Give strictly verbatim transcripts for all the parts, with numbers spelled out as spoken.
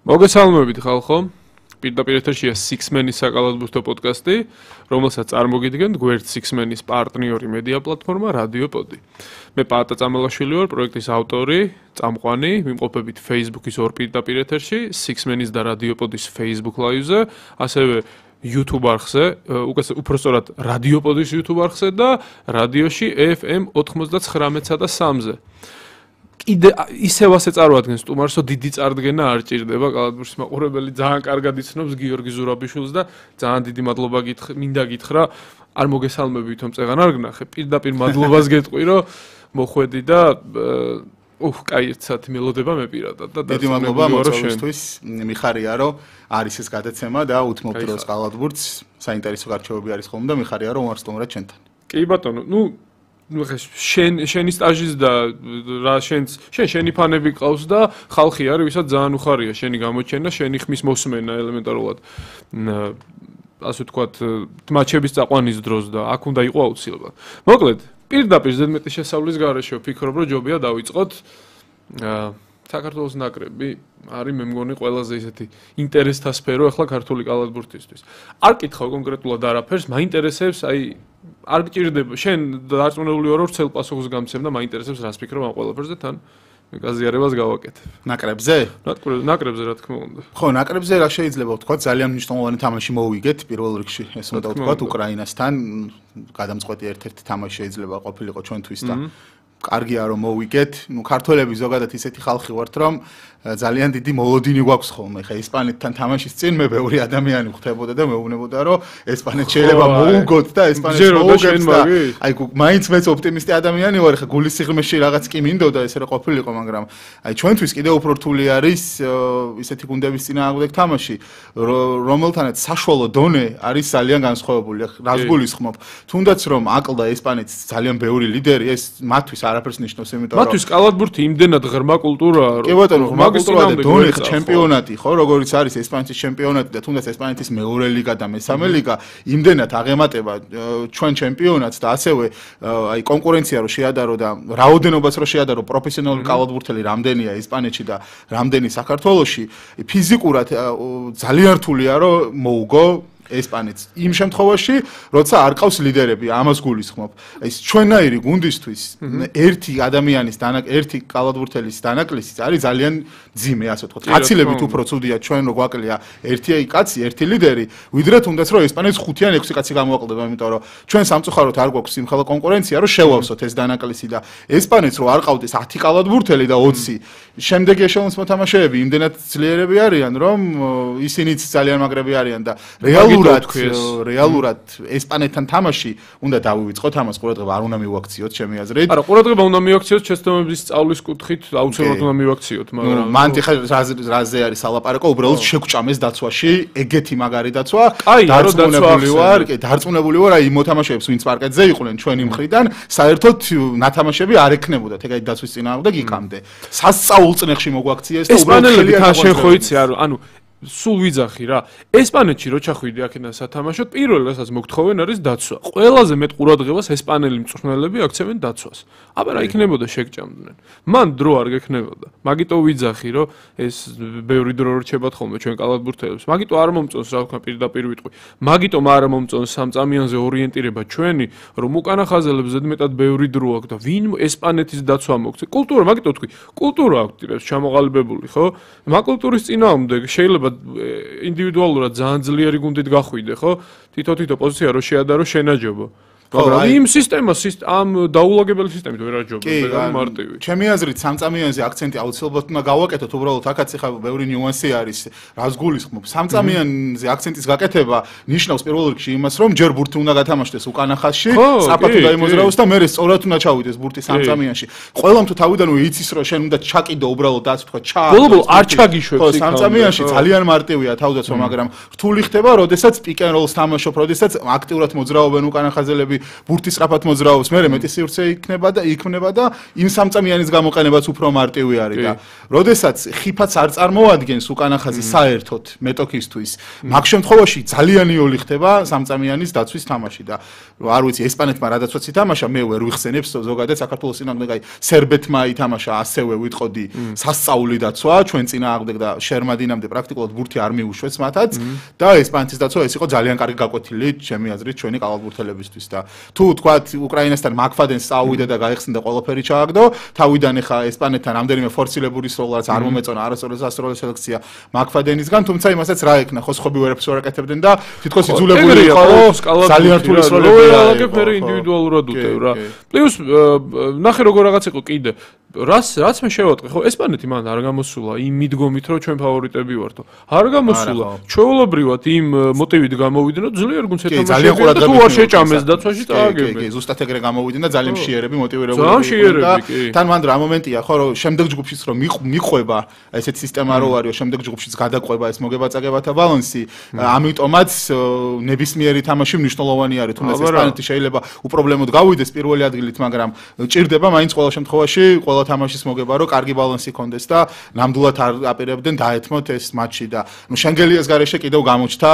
მოგესალმებით ხალხო. პირდაპირ ეთერშია Six Men-ის საკალათბურთო პოდკასტი, რომელსაც წარმოგიდგენთ გვერდ Six Men-ის პარტნიორი მედია პლატფორმა რადიო პოდი. მე პაატა წამალაშვილი ვარ, პროექტის ავტორი, წამყვანი, ვიმყოფებით Facebook-ის ორ პირდაპირ ეთერში, Six Men-ის და რადიო პოდის Facebook Live-ზე, ასევე YouTube არხზე, უпростоრად რადიო პოდის YouTube არხზე და რადიოში F M ოთხმოცდათხრამეტსა და სამზე. Ide ისევ ასე წარმოადგენს სტუმარს, რომ დიდი წარდგენა არ ჭირდება, კალათბურთის მაყურებელი ძალიან კარგად იცნობს გიორგი ზურაბიშვილს და ძალიან დიდი მადლობა გითხრა, მინდა გითხრა, არ მოგესალმები თვითონ წეღან არ გნახე, პირდაპირ მადლობას გეტყვი, რომ მოხვედი და უх, კაი ერთ საათი მელოდება მე პირადად და დიდი მადლობა მოწვევისთვის, მიხარია, რომ არის ეს გადაცემა და უთმობთ დროს კალათბურთს, საინტერესო გარჩევები არის ხოლმე და მიხარია, რომ ვარ სტუმრად ჩვენთან. კი ბატონო, ნუ ну შენ შენი სტაჟის და რა შენს შენ შენი ფანები ყავს და ხალხი არის ვისაც ძალიან უხარია შენი გამოჩენა შენი ხმის მოსმენა ელემენტარულად ასე ვთქვათ მატჩების წაყვანის დროს და აქ უნდა იყო აუცილებლად მოკლედ პირდაპირ ზედმეტი შესავლის გარეშე ვფიქრობ რომ ჯობია დავიწყოთ საქართველოს ნაკრები არის მე მგონი ყველაზე ისეთი ინტერესთა სფერო ახლა ქართული კალათბურთისთვის არ კითხავ კონკრეტულად არაფერს მაინტერესებს აი არ გჭირდება შენ დარწმუნებული ვარ რომ ცელ პასუხს გამცემ და მაინტერესებს რას ფიქრობ ამ ყველაფერზე თან გაზიარებას გავაკეთებ ნაკრებზე ნაკრებზე რა თქმა უნდა ხო ნაკრებზე რა შეიძლება ვთქვა ძალიან მნიშვნელოვანი თამაში მოვიგეთ პირველ რიგში ეს უნდა ვთქვა უკრაინასთან გადამწყვეტი ერთ-ერთი თამაში შეიძლება ყოფილიყო ჩვენთვის და კარგია რომ მოვიგეთ ნუ ქართველები ზოგადად ისეთი ხალხი ვართ რომ ძალიან დიდი მოლოდინი გვაქვს ხოლმე ხა ესპანეთთან თამაშის წინ მე ბევრი ადამიანი ხვდებოდა და მეუბნებოდა რომ ესპანეთს შეიძლება მოუგოთ და ესპანეთს მოუგებს და აი მაინც მეც ოპტიმისტი ადამიანი ვარ ხა გულის სიღრმეში რაღაც კი მინდოდა ესე რომ ყოფილიყო მაგრამ აი ჩვენთვის კიდევ უფრო რთული არის ისეთი გუნდების წინააღმდეგ თამაში რომელთანაც საშუალო დონე არის ძალიან განსხვავებული რას გულისხმობ თუნდაც რომ აკლდა ესპანეთს ძალიან ბევრი ლიდერი ეს მათთვის არაფერს ნიშნავს იმიტომ რომ მათთვის კალათბურთი იმდენად ღრმა კულტურაა რომ კი ბატონო ღრმა კულტურაა და დონე ჩემპიონატი ხო როგორიც არის ესპანეთის ჩემპიონატი და თუნდაც ესპანეთის მეორე ლიგა და მესამე ლიგა იმდენად აღემატება ჩვენ ჩემპიონატს და ასევე აი კონკურენცია რო შეადარო და რაოდენობას რო შეადარო პროფესიონალური კალათბურთელი რამდენია ესპანეთში და რამდენი საქართველოში ფიზიკურად ძალიან რთულია რომ მოუგო ესპანეთს იმ შემთხვევაში, როცა არ ყავს ლიდერები, ამას გულისხმობ. ეს ჩვენაირი გუნდისთვის ერთი ადამიანის დანაკ ერთი კალათბურთელის დანაკლისი არის ძალიან ძიმე, ასე ვთქვათ. კაცილებით უფრო ცუდია ჩვენ რო გვაკლია ერთი კაცი, ერთი ლიდერი, ვიდრე თუნდაც რომ ესპანეთს ხუთი ან ექვსი კაცი გამოაკლდება, იმიტომ რომ ჩვენ სამწუხაროდ არ გვაქვს სიმხელა კონკურენცია, რომ შევავსოთ ეს დანაკლისი და ესპანეთს რო არ ყავდეს ათი კალათბურთელი და ოცი, შემდეგი ეშელონის მოთამაშეები იმდენად ძლიერები არიან, რომ ისინიც ძალიან მაგრები არიან და რეალურად რეალურად ესპანეთთან თამაში უნდა დავივიწყოთ ამას ყურადღება არ უნდა მივაქციოთ ჩემი აზრით. არა, ყურადღება უნდა მივაქციოთ შეცდომების სწავლის კუთხით, აუცილებლად უნდა მივაქციოთ, მაგრამ მან ხა რაზე არის ალაპარაკო, უბრალოდ შეგვჭამეს დაცვაში, ეგეთი მაგარი დაცვა. დარწმუნებული ვარ, კი, დარწმუნებული ვარ, აი მოთამაშეებს ვინც პარკეტზე იყვნენ ჩვენი მხრიდან, საერთოდ ნათამაშები არ ექნებოდათ, ეგ აი დაცვის წინააღმდეგ იქამდე. სასწაულ წნეხში მოგვაქციეს და უბრალოდ ესპანელები თან შენ ხო იცი, ანუ სულ ვიძახი რა. ესპანეთში რო ჩახვიდი აქედან სათამაშოდ, პირველ რასაც მოგთხოვენ არის დაცვა. ყველაზე მეტ ყურადღებას ესპანელი მწვრთნელები აქცევენ დაცვას. აბა რა იქნებოდა შეგჭამდნენ. მან დრო არ გექნებოდა. მაგიტო ვიძახი რომ ეს ბევრი დრო რჩებათ ხოლმე ჩვენ კალათბურთელებს. მაგიტო არ მომწონს რა ვქნა პირდაპირ ვიტყვი. მაგიტომ არ მომწონს სამწამიანზე ორიენტირება ჩვენი, რომ უკანა ხაზელებს ზედმეტად ბევრი დრო აქვს და ვინ ესპანეთის დაცვა მოგცე. კულტურა, მაგიტო ვთქვი, კულტურა აქვს ჩამოყალიბებული, ხო? მაგ-კულტურის წინააღმდეგ შეიძლება ინდივიდუალურად ძალიან ძლიერი გუნდით გახვიდე, ხო? თითო-თითო პოზიცია რო შეადარო შენაჯობო. მაგრამ იმ სისტემას ამ დაულაგებელი სისტემით ვერ აჯობებს, მარტივი. ჩემი აზრით სამწამიანზე აქცენტი აუცილებლად უნდა გავაკეთოთ, უბრალოდ აქაც ხა ბევრი ნიუანსი არის, რას გულისხმობ. სამწამიანზე აქცენტის გაკეთება ნიშნავს პირველ რიგში იმას, რომ ჯერ ბურთი უნდა გათამაშდეს უკანა ხაზში, საფათო დაიმოძრაოს და მერე სწორად უნდა ჩავიდეს ბურთი სამწამიანში. ყველამ თუ თავიდანვე იცის, რომ შენ უნდა ჩაკიდო უბრალოდ ასე თქვა, ჩა. ბოლო-ბოლო არ ჩაგიშვებს იქ. სამწამიანში ძალიან მარტივია თავდაცვა, მაგრამ რთული ხდება, როდესაც პიკ ენ როლს თამაშობ, როდესაც აქტიურად მოძრაობენ უკანა ხაზელები ბურთი სწრაფად მოძრაობს, მე მეტი სივრცე იქნება და იქნება და იმ სამწამიანის გამოყენებაც უფრო მარტივი არის და როდესაც ხიფაც არ წარმოადგენს უკანახაზი საერთოდ მეტოქისთვის, მაგ შემთხვევაში ძალიან იოლი ხდება სამწამიანის დაცვის თამაში და არ ვიცი ესპანეთმა რადაცაც ითამაშა, მე ვერ ვიხსენებს ზოგადად საქართველოს წინააღმდეგ აი სერბეთმა ითამაშა ასევე ვიტყოდი სასწაული დაცვა ჩვენ წინააღმდეგ და შერმადინამდე პრაქტიკულად ბურთი არ მიუშვეს მათაც და ესპანეთის დაცვა ეს იყო ძალიან კარგი გაკვეთილი ჩემი აზრით ჩვენი კალათბურთელებისთვის და თუ თქვათ უკრაინასთან მაგფადენს წაუვიდა და გაიხსნა ყველაფერი ჩააგდო თავიდან ეხა ესპანეთთან რამდენიმე ფორცილებული სროლაც არ მომეწონა არასოდეს ასროლის სელექცია მაგფადენისგან თუმცა იმასაც რა ეკნა ხო სხვები ვერაფერს ვერ აკეთებდნენ და თითქოს იძულებული იყო ძალიან რთული სროლები ააკეთებდა ინდივიდუალურად უტევ რა პლუს ნახე როგორ რაღაც იყო კიდე რას რაც მე შევატყე ხო ესპანეთი მან არ გამოსულა იმ მიდგომით რომ ჩვენ ფავორიტები ვართო არ გამოსულა ჩვეულებრივად იმ მოტივით გამოვიდნენ რომ ძლიერ გუნდს ეთამაშებდა და თუ არ შეჭამეს დაცვაში წააგებდნენ კი კი ზუსტად ეგრე გამოვიდნენ და ძალიან მშიერები მოტივირებული იყვნენ და თან მან რა მომენტია ხო რომ შემდეგ ჯგუფშიც რომ მიყვება ესეთ სისტემა რო არისო შემდეგ ჯგუფშიც გადაყვება ეს მოგებაწაგებათა ბალანსი ამიტომაც ნებისმიერი თამაში მნიშვნელოვანი არის თუნდაც ესპანეთი შეიძლება უპრობლემოდ გავიდეს პირველი ადგილით მაგრამ ჭირდება მაინც ყოველ შემთხვევაში ყველა თამაშის მოგება რომ კარგი ბალანსი კონდეს და ნამდვილად არ აპირებდნენ დაეთმოთ ეს მატჩი და ნუ შენგელიას გარეშე კიდევ გამოჩნდა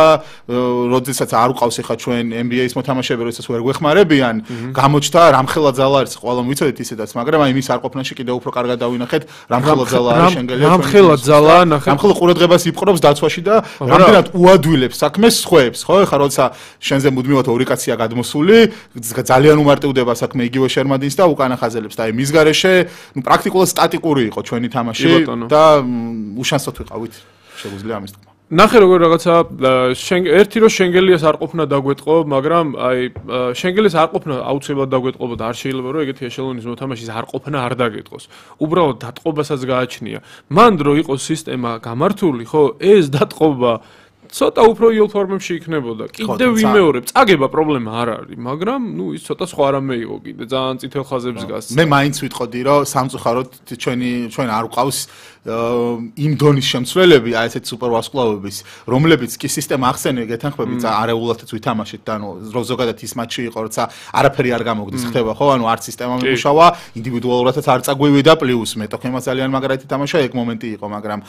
როდესაც არ უყავს ახლა ჩვენ ენ ბი ეის მოთამაშეები როდესაც ვერ გვეხმარებიან გამოჩნდა რამხელა ძალა არის ყველამ ვიცოდეთ ისედაც მაგრამ აი მის არყოფნაში კიდევ უფრო კარგად დავინახეთ რამხელა ძალა არის შენგელიას რამხელა ძალა ნახეთ რამხელა ყურადღებას იპყრობს დაცვაში და რამდენად უადვილებს საქმეს ხვეებს ხო ახლა როცა შენზე მუდმივად ორი კაცია გადმოსული ძალიან უმარტივდება საქმე იგივე შერმადინს და უკანა ხაზელებს და აი მის გარეშე ну პრაქტიკულად სტატიკური იყო ჩვენი თამაში და უშანსოდ ვიყავით შეგვიძლია ამის თქმა ნახე როგორ რაღაცა ერთი რო შენგელიას არ ყოფნა დაგვეტყო მაგრამ აი შენგელიას არ ყოფნა აუცილებლად დაგვეტყობა და არ შეიძლება რომ ეგეთი ეშელონის მოთამაშის არ ყოფნა არ დაგეტყოს უბრალოდ დატყობასაც გააჩნია მან დრო იყო სისტემა გამართული ხო ეს დატყობა ცოტა უფრო იოლ ფორმებში იქნებოდა. კიდევ ვიმეორებ, წაგება პრობლემა არ არის, მაგრამ ნუ ის ცოტა სხვა რამე იყო კიდე, ძალიან წითელ ხაზებს გასცდა. მე მაინც ვიტყოდი, რომ სამწუხაროდ ჩვენი ჩვენ არ ვყავს იმ დონის შემცველები, აი ესეთ სუპერვარსკვლავების, რომლებიც კი სისტემა ახსენე გეთანხმებით, არეულათაც ვითამაშეთ და ნუ ზოგადად ის მატჩი იყო, როცა არაფერი არ გამოგდის, ხდება ხო? ანუ არც სისტემა მიმუშავა, ინდივიდუალურადაც არ წაგვივიდა, პლუს მეტოქემა ძალიან მაგრად ითამაშა, ეგ მომენტი იყო, მაგრამ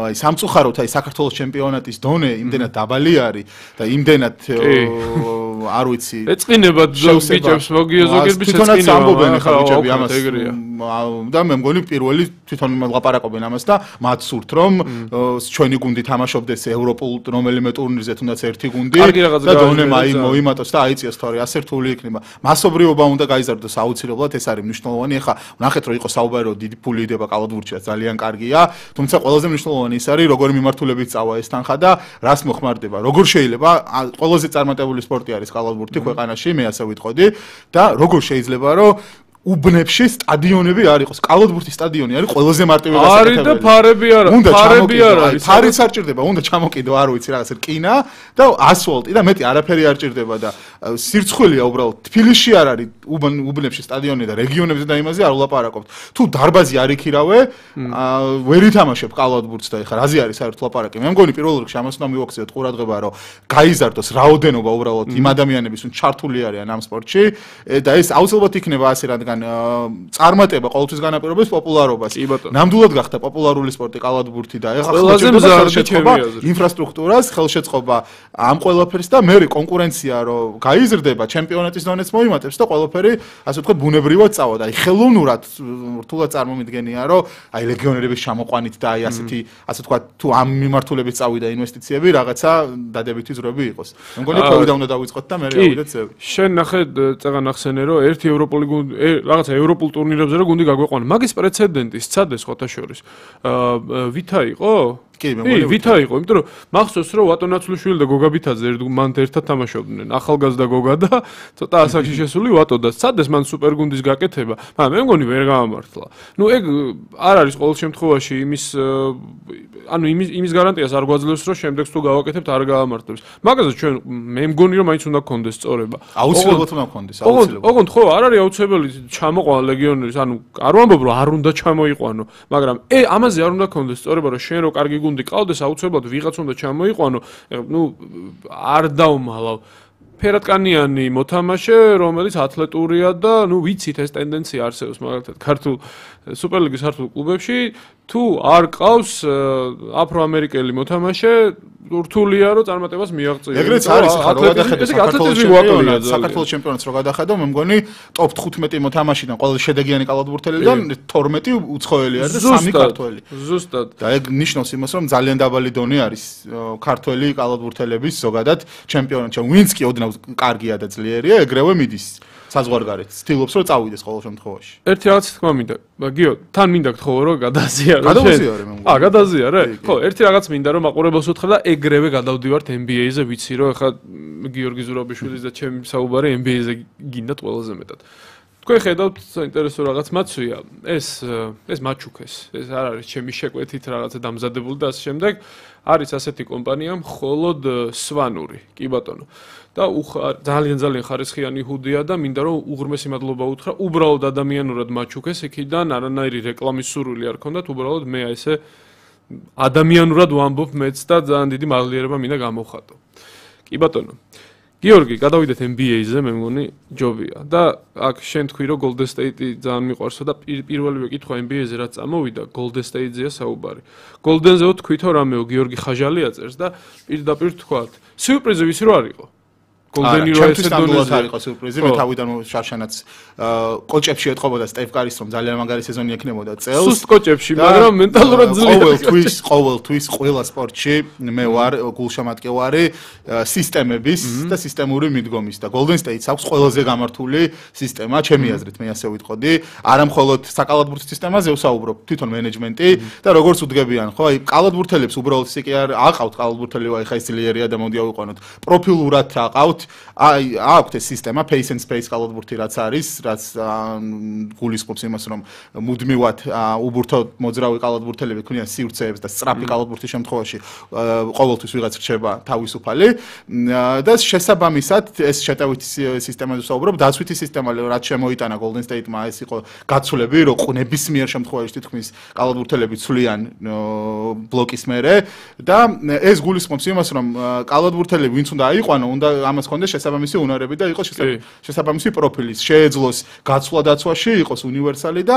აი სამწუხაროდ აი საქართველოს ჩემპიონატის დონე იმდენად დაბალი არის და იმდენად არ ვიცი ეწყინება ბიჭებს მოგიოზოგებს თვითონაც ამბობენ ხა ბიჭები ამას და მე მგონი პირველი თვითონ ლაპარაკობენ ამას და მათ სურთ რომ ჩვენი გუნდი თამაშობდეს ევროპულ რომელიმე ტურნირზე თუნდაც ერთი გუნდი და დონე მოიმატოს და აიწიოს თორე ასე რთული იქნება მასობრივობა უნდა გაიზარდოს აუცილებლად ეს არის მნიშვნელოვანი ხა ნახეთ რომ იყო საუბარი რომ დიდი ფული იდება კალათბურთში ძალიან კარგია თუმცა ყველაზე მნიშვნელოვანი ის არის როგორი მიმართულებით წავა ეს თანხა და რას მოხმარდება როგორ შეიძლება ყველაზე წარმატებული სპორტი არის კალათბურთი ქვეყანაში მე ასე ვიტყოდი და როგორ შეიძლება რომ უბნებში სტადიონები არ იყოს. კალათბურთის სტადიონი არის ყველაზე მარტივი გასაკეთებელი. არის და ფარები არ არის. ფარები არ არის. ფარიც არ ჭირდება, უნდა ჩამოკიდო, არ ვიცი რაღაც რკინა და ასფალტი და მეტი არაფერი არ ჭირდება და სირცხვილია უბრალოდ. თბილისში არ არის უბნებში სტადიონი და რეგიონებზე და იმაზე არ ვლაპარაკობთ. თუ დარბაზი არ იქირავე, ვერ ითამაშებ კალათბურთს და ეხლა რაზე არის საერთოდ ლაპარაკი. მე მგონი პირველ რიგში ამას უნდა მივაქციოთ ყურადღება, რომ გაიზარდოს რაოდენობა უბრალოდ იმ ადამიანების, ვინც ჩართული არიან ამ სპორტში და ეს აუცილებლად იქნება ასე რადგან წარმატება ყოველთვის განაპირობებს პოპულარობას. ნამდვილად გახდა პოპულარული სპორტი კალათბურთი და ეხლა ხელშეწყობა ინფრასტრუქტურას, ხელშეწყობა ამ ყველაფერს და მე კონკურენცია რომ გაიზრდება, ჩემპიონატის დონეც მოიმატებს და ყველაფერი ასე ვთქვათ ბუნებრივად წავა და აი ხელოვნურად რთულად წარმომიდგენია რომ აი ლეგიონერების ჩამოყვანით და აი ასეთი ასე ვთქვათ თუ ამ მიმართულებით წავიდა ინვესტიციები რაღაცა დადებითი ზრები იყოს. მე მგონი ქოვიდა უნდა დავიწყოთ და მე ავიდეთ ზევი. შენ ნახე წეგან ახსენე რომ ერთი ევროპული გუნდი რაღაცა ევროპულ ტურნირებზე რა გუნდი გაგვეყვანა. მაგის პრეცედენტი სცადეს ხოთა შორის. აა ვითა იყო? კი, მე მგონი ვითა იყო, იმიტომ რომ მახსოვს რომ ვატონაცულიშვილი და გოგა ბითაძე მან ერთად თამაშობდნენ. ახალგაზრდა გოგა და ცოტა ასაკში შესული ვატო და სცადეს მან სუპერგუნდის გაკეთება. მაგრამ მე მგონი ვერ გამართლა. ნუ ეგ არ არის ყოველ შემთხვევაში იმის ანუ იმის იმის გარანტიას არ გვაძლევს რომ შემდეგს თუ გავაკეთებთ არ გაამართლებს. მაგაზე ჩვენ მე მგონი რომ მაინც უნდა გქონდეს სწორება. აუცილებლად უნდა გქონდეს, აუცილებლად. ოღონდ ხო, არ არის აუცილებელი ჩამოყვანა ლეგიონერის, ანუ არ ვამბობ რომ არ უნდა ჩამოიყვანო, მაგრამ ე ამაზე არ უნდა გქონდეს სწორება რომ შენ რო კარგი გუნდი ყავდეს, აუცილებლად ვიღაც უნდა ჩამოიყვანო. ნუ არ დავმალავ ფერადკანიანი მოთამაშე, რომელიც ათლეტურია და ნუ ვიცით ეს ტენდენცია არსებობს მაგალითად ქართულ სუპერლიგის ქართულ კლუბებში თუ არ ყავს აფროამერიკელი მოთამაშე რთულია რომ წარმატებას მიაღწიოს. ეგრეც არის ხა რო გადახედო საქართველოს საქართველოს ჩემპიონატს რო გადახედო მე მგონი ტოპ თხუთმეტი მოთამაშიდან ყველა შედეგიანი კალათბურთელიდან თორმეტი უცხოელი არის და სამი ქართველი. ზუსტად. და ეგ ნიშნავს იმას რომ ძალიან დაბალი დონე არის ქართველი კალათბურთელების ზოგადად ჩემპიონატში. ვინც კი ოდნავ კარგია და ძლიერია ეგრევე მიდის საზღვარგარეთ. ცდილობს რომ წავიდეს ყოველ შემთხვევაში. ერთი რაღაც თქმა მინდა. გიო, თან მინდა გთხოვო რომ გადაზიარო. გადაზიარე მე მგონი. აა, გადაზიარე? ხო, ერთი რაღაც მინდა რომ მაყურებელს უთხრა და ეგრევე გადავდივართ ენ ბი ეი-ზე, ვიცი რომ ეხლა გიორგი ზურაბიშვილის და ჩემი საუბარი ენ ბი ეი-ზე გინდათ ყველაზე მეტად. თქვენ ხედავთ საინტერესო რაღაც მაცვია. ეს ეს მაჩუკეს. ეს არ არის ჩემი შეკვეთით რაღაცა დამზადებული და ასე შემდეგ. არის ასეთი კომპანია მხოლოდ სვანური, კი ბატონო. და ძალიან ძალიან ხარისხიანი ჰუდია და მინდა რომ უღრმესი მადლობა უთხრა უბრალოდ ადამიანურად მაჩუკეს იქიდან არანაირი რეკლამის სურვილი არ ქონდათ უბრალოდ მე ესე ადამიანურად ვამბობ მეც და ძალიან დიდი მადლიერება მინდა გამოვხატო. კი ბატონო. გიორგი, გადავიდეთ ენ ბი ეი-ზე, მე მგონი ჯობია და აქ შენ თქვი რომ Golden State-ი ძალიან მიყვარსო და პირველივე კითხვა ენ ბი ეი-ზე რაც წამოვიდა Golden State-ზეა საუბარი. Golden-ზე თქვითო რამეო გიორგი ხაჟალი აწერს და პირდაპირ თქვათ. სიურპრიზი ვიცი რო არ იყო. გოლდენი რო ესე დონეზე არ იყო სიურპრიზი მე თავიდან შარშანაც კოჭებში ეთყობოდა სტეფ კარის რომ ძალიან მაგარი სეზონი ექნებოდა წელს სუსტ კოჭებში მაგრამ მენტალურად ძლიერია ყოველთვის ყოველთვის ყველა სპორტში მე ვარ გულშემატკივარი სისტემების და სისტემური მიდგომის და Golden State-ს აქვს ყველაზე გამართული სისტემა ჩემი აზრით მე ასე ვიტყოდი არა მხოლოდ საკალათბურთის სისტემაზე ვსაუბრობ თვითონ მენეჯმენტი და როგორც უდგებიან ხო აი კალათბურთელებს უბრალოდ ისე კი არ აყავთ კალათბურთელი აი ხა ის ძლიერია და მოდი ავიყვანოთ პროფილურად აყავთ აი აქვს ეს სისტემა pace and space კალათბურთი რაც არის რაც გულისხმობს იმას რომ მუდმივად უბურთო მოძრავი კალათბურთელები ქმნიან სივრცეებს და სწრაფი კალათბურთის შემთხვევაში ყოველთვის ვიღაც რჩება თავისუფალი და შესაბამისად ეს შეტევითი სისტემაზე ვსაუბრობ დაცვითი სისტემა რაც შემოიტანა Golden State-მა ეს იყო გაცვლები რომ ნებისმიერ შემთხვევაში თითქმის კალათბურთელები ცვლიან ბლოკის მერე და ეს გულისხმობს იმას რომ კალათბურთელები ვინც უნდა აიყვანო უნდა ამას ქონდეს შესაბამისი უნარები და იყოს შესაბამისი პროფილი შეეძლოს გაცვლა დაცვაში იყოს უნივერსალი და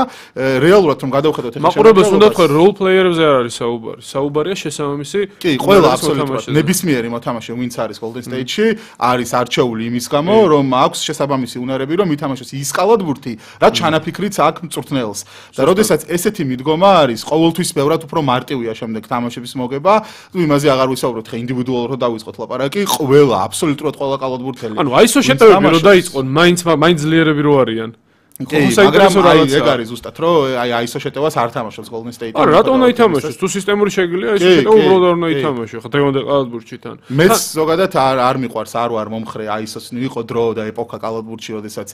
რეალურად რომ გადავხედოთ ეხლა მაყურებელს უნდა თქვა როლ პლეიერებზე არ არის საუბარი საუბარია შესაბამისი კი ყველა აბსოლუტურად ნებისმიერი მოთამაშე ვინც არის Golden State-ში არის არჩეული იმის გამო რომ აქვს შესაბამისი უნარები რომ ითამაშოს ის კალათბურთი რაც ჩანაფიქრიც აქვს მწვრთნელს და როდესაც ესეთი მიდგომა არის ყოველთვის ბევრად უფრო მარტივია შემდეგ თამაშების მოგება თუ იმაზე აღარ ვისაუბროთ ხა ინდივიდუალურად დავიწყოთ ლაპარაკი ყველა აბსოლუტურად ყველა კალათბურთელი ანუ აი ისო შეტევები რო დაიწყონ მაინც მაინც ძლიერები რო არიან კი მაგრამ აი ეგ არის ზუსტად რომ აი აი ისო შეტევას არ თამაშობს Golden State-ი არა რატომ უნდა ითამაშოს თუ სისტემური შეგვიძლია ის შეტევა უბრალოდ არ უნდა ითამაშო ხა დღევანდელ კალათბურთში თან მეც ზოგადად არ არ მიყვარს არ ვარ მომხრე აი ისოს იყო დრო და ეპოქა კალათბურთში როდესაც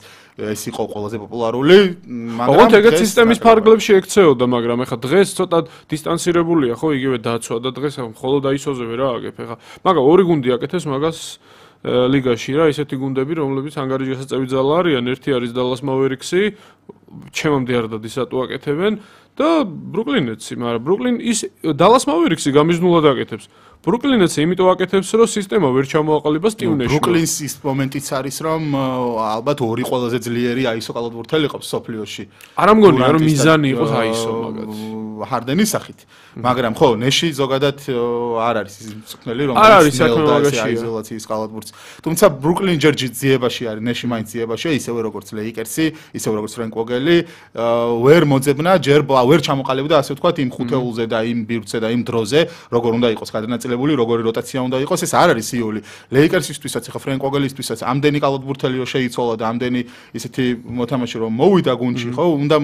ეს იყო ყველაზე პოპულარული მაგრამ ოღონდ ეგეთ სისტემის ფარგლებში ექცეოდა მაგრამ ეხა დღეს ცოტა დისტანცირებულია ხო იგივე დაცვა და დღეს მხოლოდ აი ისოზე ვერ ააგებ ეხა მაგრამ ორი გუნდი აკეთებს მაგას ლიგაში რა ისეთი გუნდები რომლებიც ანგარიშგასაწევი ძალა არიან ერთი არის Dallas Mavericks-ი ჩემამდე არ დადის რატო აკეთებენ და Brooklyn Nets-ი მაგრამ Brooklyn ის Dallas Mavericks-ი გამიზნულად აკეთებს Brooklyn Nets-ი იმიტომ აკეთებს რომ სისტემა ვერ ჩამოაყალიბა სტიუნეში Brooklyn-ის ის მომენტიც არის რომ ალბათ ორი ყველაზე ძლიერი აისო კალათბურთელი ყავს სოფლიოში არ ამგონია რომ მიზანი იყოს აისო მაგათ ჰარდენის სახით მაგრამ ხო ნეში ზოგადად არ არის ის მწვრთნელი რომ არ არის საქმე მაგაშია იზოლაციის კალათბურთს თუმცა Brooklyn ჯერჯი ძიებაში არის ნეში მაინც ძიებაშია ისევე როგორც Lakers-ი ისევე როგორც Frank Vogel-ი ვერ მოძებნა ჯერ ვერ ჩამოყალიბდა ასე ვთქვათ იმ ხუთეულზე და იმ ბირთზე და იმ დროზე როგორ უნდა იყოს გადანაწილებული როგორი როტაცია უნდა იყოს ეს არ არის იული Lakers-ისთვისაც ახლა Frank Vogel-ისთვისაც ამდენი კალათბურთელი რო შეიცვალა და ამდენი ისეთი მოთამაშე რომ მოვიდა გუნდში ხო უნდა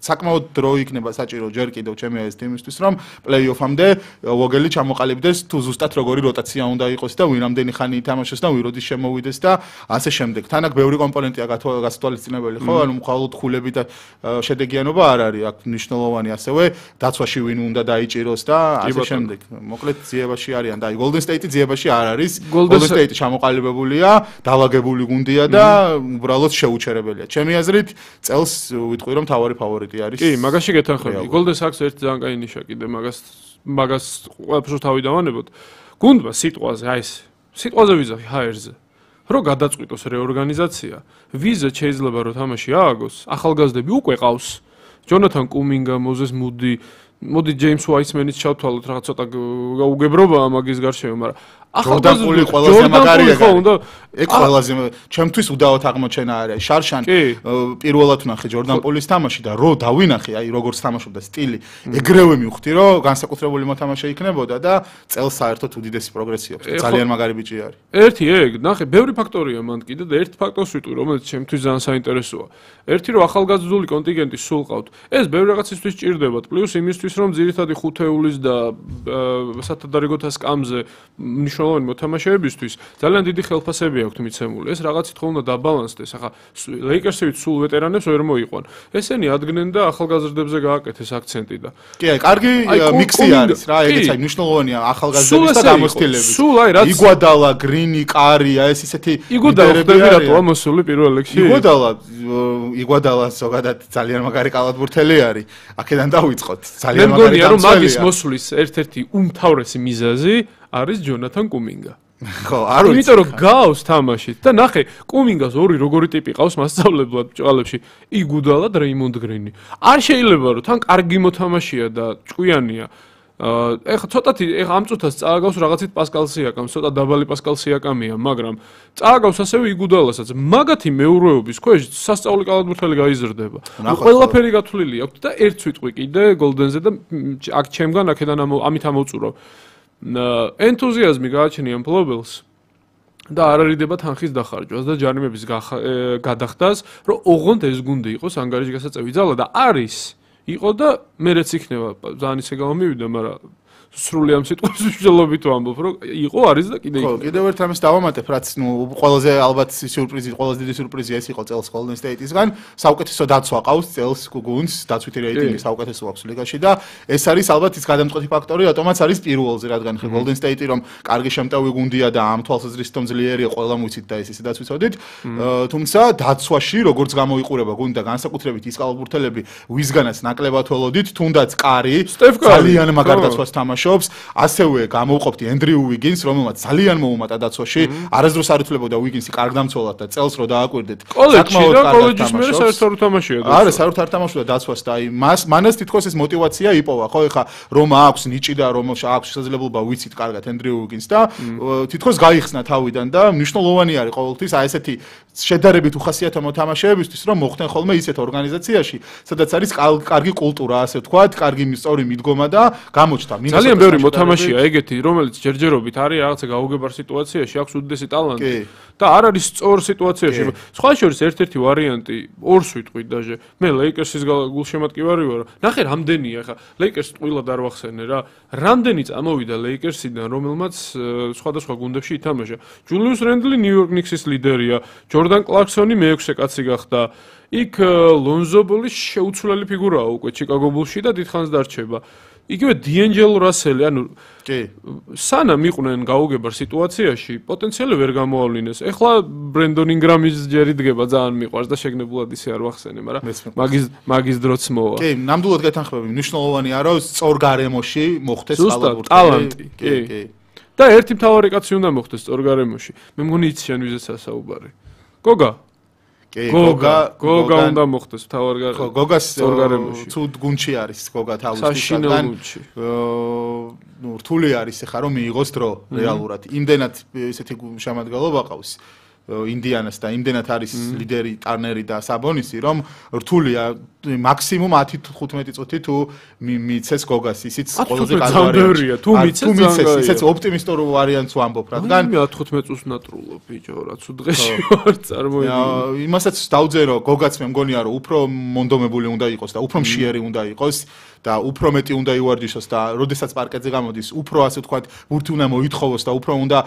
საკმაოდ დრო იქნება საჭირო ჯერ კიდევ ჩემი ეს თემისთვის რომ პლეი-ოფამდე Vogel-ი ჩამოყალიბდეს თუ ზუსტად როგორი როტაცია უნდა იყოს და ვინ ამდენი ხანი ითამაშოს და ვინ როდის შემოვიდეს და ასე შემდეგ თან აქ ბევრი კომპონენტია გასათვალისწინებელი ხო ანუ მხოლოდ ხულები და შედეგიანობა არ არის აქ მნიშვნელოვანი ასევე დაცვაში ვინ უნდა დაიჭიროს და ასე შემდეგ მოკლედ ძიებაში არიან და აი Golden State-ი ძიებაში არ არის Golden State-ი ჩამოყალიბებულია დაალაგებული გუნდია და უბრალოდ შეუჩერებელია ჩემი აზრით წელს ვიტყვი რომ თავარი ფავორიტი არის კი მაგაში გეთანხმები Golden State-ს ერთი ძალიან კაი ნიშა კიდე მაგას მაგას ყველაფერს თავი დავანებოთ გუნდმა სიტყვაზე აი ეს სიტყვაზე ვიზახი ჰაერზე რომ გადაწყვიტოს რეორგანიზაცია, ვიზა შეიძლება რომ თამაში ააგოს, ახალგაზრდები უკვე ყავს. ჯონათან კუმინგა, მოზეს მუდი, მოდი ჯეიმს უაისმენის ჩავთვალოთ რაღაც ცოტა გაუგებრობაა მაგის გარშემო, მაგრამ ახალგაზრდული ყველაზე მაგარია. ეგ ყველაზე ჩემთვის უდავოდ აღმოჩენა არის. შარშან პირველად ვნახე ჯორდან პოლის თამაში და რო დავინახე, აი როგორც თამაშობდა სტილი, ეგრევე მივხვდი რომ განსაკუთრებული მოთამაშე იქნებოდა და წელს საერთოდ უდიდესი პროგრესი აქვს. ძალიან მაგარი ბიჭი არის. ერთი ეგ, ნახე, ბევრი ფაქტორია მან კიდე და ერთ ფაქტორს ვიტყვი, რომელიც ჩემთვის ძალიან საინტერესოა. ერთი რომ ახალგაზრდული კონტინგენტი სულ ყავთ. ეს ბევრი რაღაცისთვის ჭირდებათ, პლუს იმისთვის რომ ძირითადი ხუთეულის და სათადარიგოთა სკამზე მნიშვნელოვანი მოთამაშეებისთვის ძალიან დიდი ხელფასები აქვთ მიცემული. ეს რაღაცით ხომ უნდა დაბალანსდეს. ახლა ლეიკერსივით სულ ვეტერანებს ვერ მოიყვან. ესენი ადგენენ და ახალგაზრდებზე გააკეთეს აქცენტი და. კი, აი, კარგი მიქსი არის რა, ეგეც აი მნიშვნელოვანია ახალგაზრდების და გამოცდილების. სულ აი რაც იგუადალა, გრინი, კარი, აი ეს ისეთი იგუადალა ხდება მოსული პირველ ლეგში. იგუადალა, იგუადალა ზოგადად ძალიან მაგარი კალათბურთელი არის. აქედან დავიწყოთ. ძალიან მაგარი გამოცდილი. მე მგონია რომ მაგის მოსulis ერთ-ერთი უმთავრესი მიზეზი არის ჯონათან კუმინგა. ხო, არ ვიცი. იმიტომ რომ გავს თამაშით და ნახე, კუმინგას ორი როგორი ტიპი ყავს მასწავლებლად ბჭყალებში. იგუდალა და რეიმონდ გრინი. არ შეიძლება რომ თან კარგი მოთამაშეა და ჭკვიანია. აა ეხა ცოტათი ეხა ამ წუთას წააგავს რაღაცით პასკალ სიაკამ, ცოტა დაბალი პასკალ სიაკამია, მაგრამ წააგავს ასევე იგუდალასაც. მაგათი მეურვეობის ქვეშ სასწაული კალათბურთელი გაიზრდება. ყველაფერი გათვლილი აქვს და ერთ სიტყვი კიდე გოლდენზე და აქ ჩემგან აქედან ამით ამოვწურავ. ენთუზიაზმი გააჩნია მფლობელს და არ არიდება თანხის დახარჯვას და ჯარიმების გადახდას, რომ ოღონდ ეს გუნდი იყოს ანგარიში გასაწევი ძალა და არის იყო და მერეც იქნება ძალიან ისე გამომივიდა, მაგრამ სრული ამ სიტყვის მნიშვნელობით ვამბობ, რომ იყო, არის და კიდე იქნება. ხო, კიდევ ერთ ამას დავამატებ, რაც ნუ ყველაზე ალბათ სიურპრიზი, ყველაზე დიდი სიურპრიზი ეს იყო წელს Golden State-ისგან, საუკეთესო დაცვა ყავს წელს გუნდს, დაცვითი რეიტინგი საუკეთესო აქვს ლიგაში და ეს არის ალბათ ის გადამწყვეტი ფაქტორი, რატომაც არის პირველზე, რადგან ხე Golden State-ი რომ კარგი შემტევი გუნდია და ამ თვალსაზრისით ძლიერია, ყველამ ვიცით და ეს ისედაც ვიცოდით, თუმცა დაცვაში როგორც გამოიყურება გუნდი და განსაკუთრებით ის კალათბურთელები, ვისგანაც ნაკლებად ველოდით, თუნდაც კარი ძალიან მაგარ დაცვას თამაშობს. ასევე გამოვყოფდი ენდრიუ ვიგინს, რომელმაც ძალიან მოუმატა დაცვაში. არასდროს არ ითვლებოდა ვიგინსი კარგ დამცველად და წელს რო დააკვირდეთ. საკმაოდ კარგად კოლეჯის მერე საერთოდ თამაშია. არა, საერთოდ არ თამაშობდა დაცვას და აი მას მანას თითქოს ეს мотиваცია იპოვა, ხო, ეხა რომ აქვს ნიჭი და რომ აქვს შესაძლებლობა ვიცით კარგად ენდრიუ ვიგინს და თითქოს გაიხსნა თავიდან და მნიშვნელოვანი არის ყოველთვის აი ესეთი შედარებით უხასიათო მოთამაშეებისთვის, რომ მოხდნენ ხოლმე ისეთ ორგანიზაციაში, სადაც არის კარგი კულტურა, ასე ვთქვათ, კარგი სწორი მიდგომა და გამოჩნდა. ძალიან ბევრი მოთამაშეა ეგეთი, რომელიც ჯერჯერობით არის რაღაცა გაუგებარ სიტუაციაში, აქვს უდიდესი ტალანტი და არ არის სწორ სიტუაციაში. სხვა შორის ერთ-ერთი ვარიანტი, ორს ვიტყვი დაჟე. მე ლეიკერსის გულშემატკივარი ვარ. ნახე, რამდენია ხა ლეიკერსს ტყუილად არ ვახსენე რა. რამდენი წამოვიდა ლეიკერსიდან, რომელმაც სხვადასხვა გუნდებში ითამაშა. ჯულიუს რენდლი ნიუ-იორკ ნიქსის ლიდერია, ჯორდან კლარკსონი მეექვსე კაცი გახდა. იქ ლონზო ბოლის შეუცვლელი ფიგურაა უკვე ჩიკაგო ბულში და დიდხანს დარჩება. იგივე დიენჯელო რასელი, ანუ კი, სანამ იყვნენ გაუგებარ სიტუაციაში, პოტენციალი ვერ გამოავლინეს. ეხლა ბრენდონ ინგრამის ჯერი დგება, ძალიან მიყვარს და შეგნებულად ისე არ ვახსენე, მაგრამ მაგის მაგის დროც მოვა. კი, ნამდვილად გეთანხმები, მნიშვნელოვანია რომ სწორ გარემოში მოხდეს კალათბურთი. ტალანტი, კი, კი. და ერთი მთავარი კაცი უნდა მოხდეს სწორ გარემოში. მე მგონი იცი შენ ვიზეც ასაუბარი. გოგა კი, გოგა, გოგა უნდა მოხდეს მთავარ გარემოში. ხო, გოგას სწორ გარემოში. ცუდ გუნდში არის გოგა თავისთვის, საშინელ გუნდში. ნუ რთული არის ეხა რომ მიიღოს დრო რეალურად. იმდენად ესეთი შემადგენლობა ყავს ინდიანას და იმდენად არის ლიდერი ტარნერი და საბონისი, რომ რთულია მაქსიმუმ ათი ხუთმეტი წუთი თუ მიცეს გოგას, ისიც ყველაზე კარგია. თუ მიცეს, ისიც ოპტიმისტურ ვარიანტს ვამბობ, რადგან მე ათი ხუთმეტი წუთს ნატრულობ, ბიჭო, რაც უდღეში ვარ წარმოიდგინე. იმასაც დავძე რომ გოგაც მე მგონია რომ უფრო მონდომებული უნდა იყოს და უფრო მშიერი უნდა იყოს და უფრო მეტი უნდა ივარჯიშოს და როდესაც პარკეტზე გამოდის, უფრო ასე ვთქვათ, ბურთი უნდა მოითხოვოს და უფრო უნდა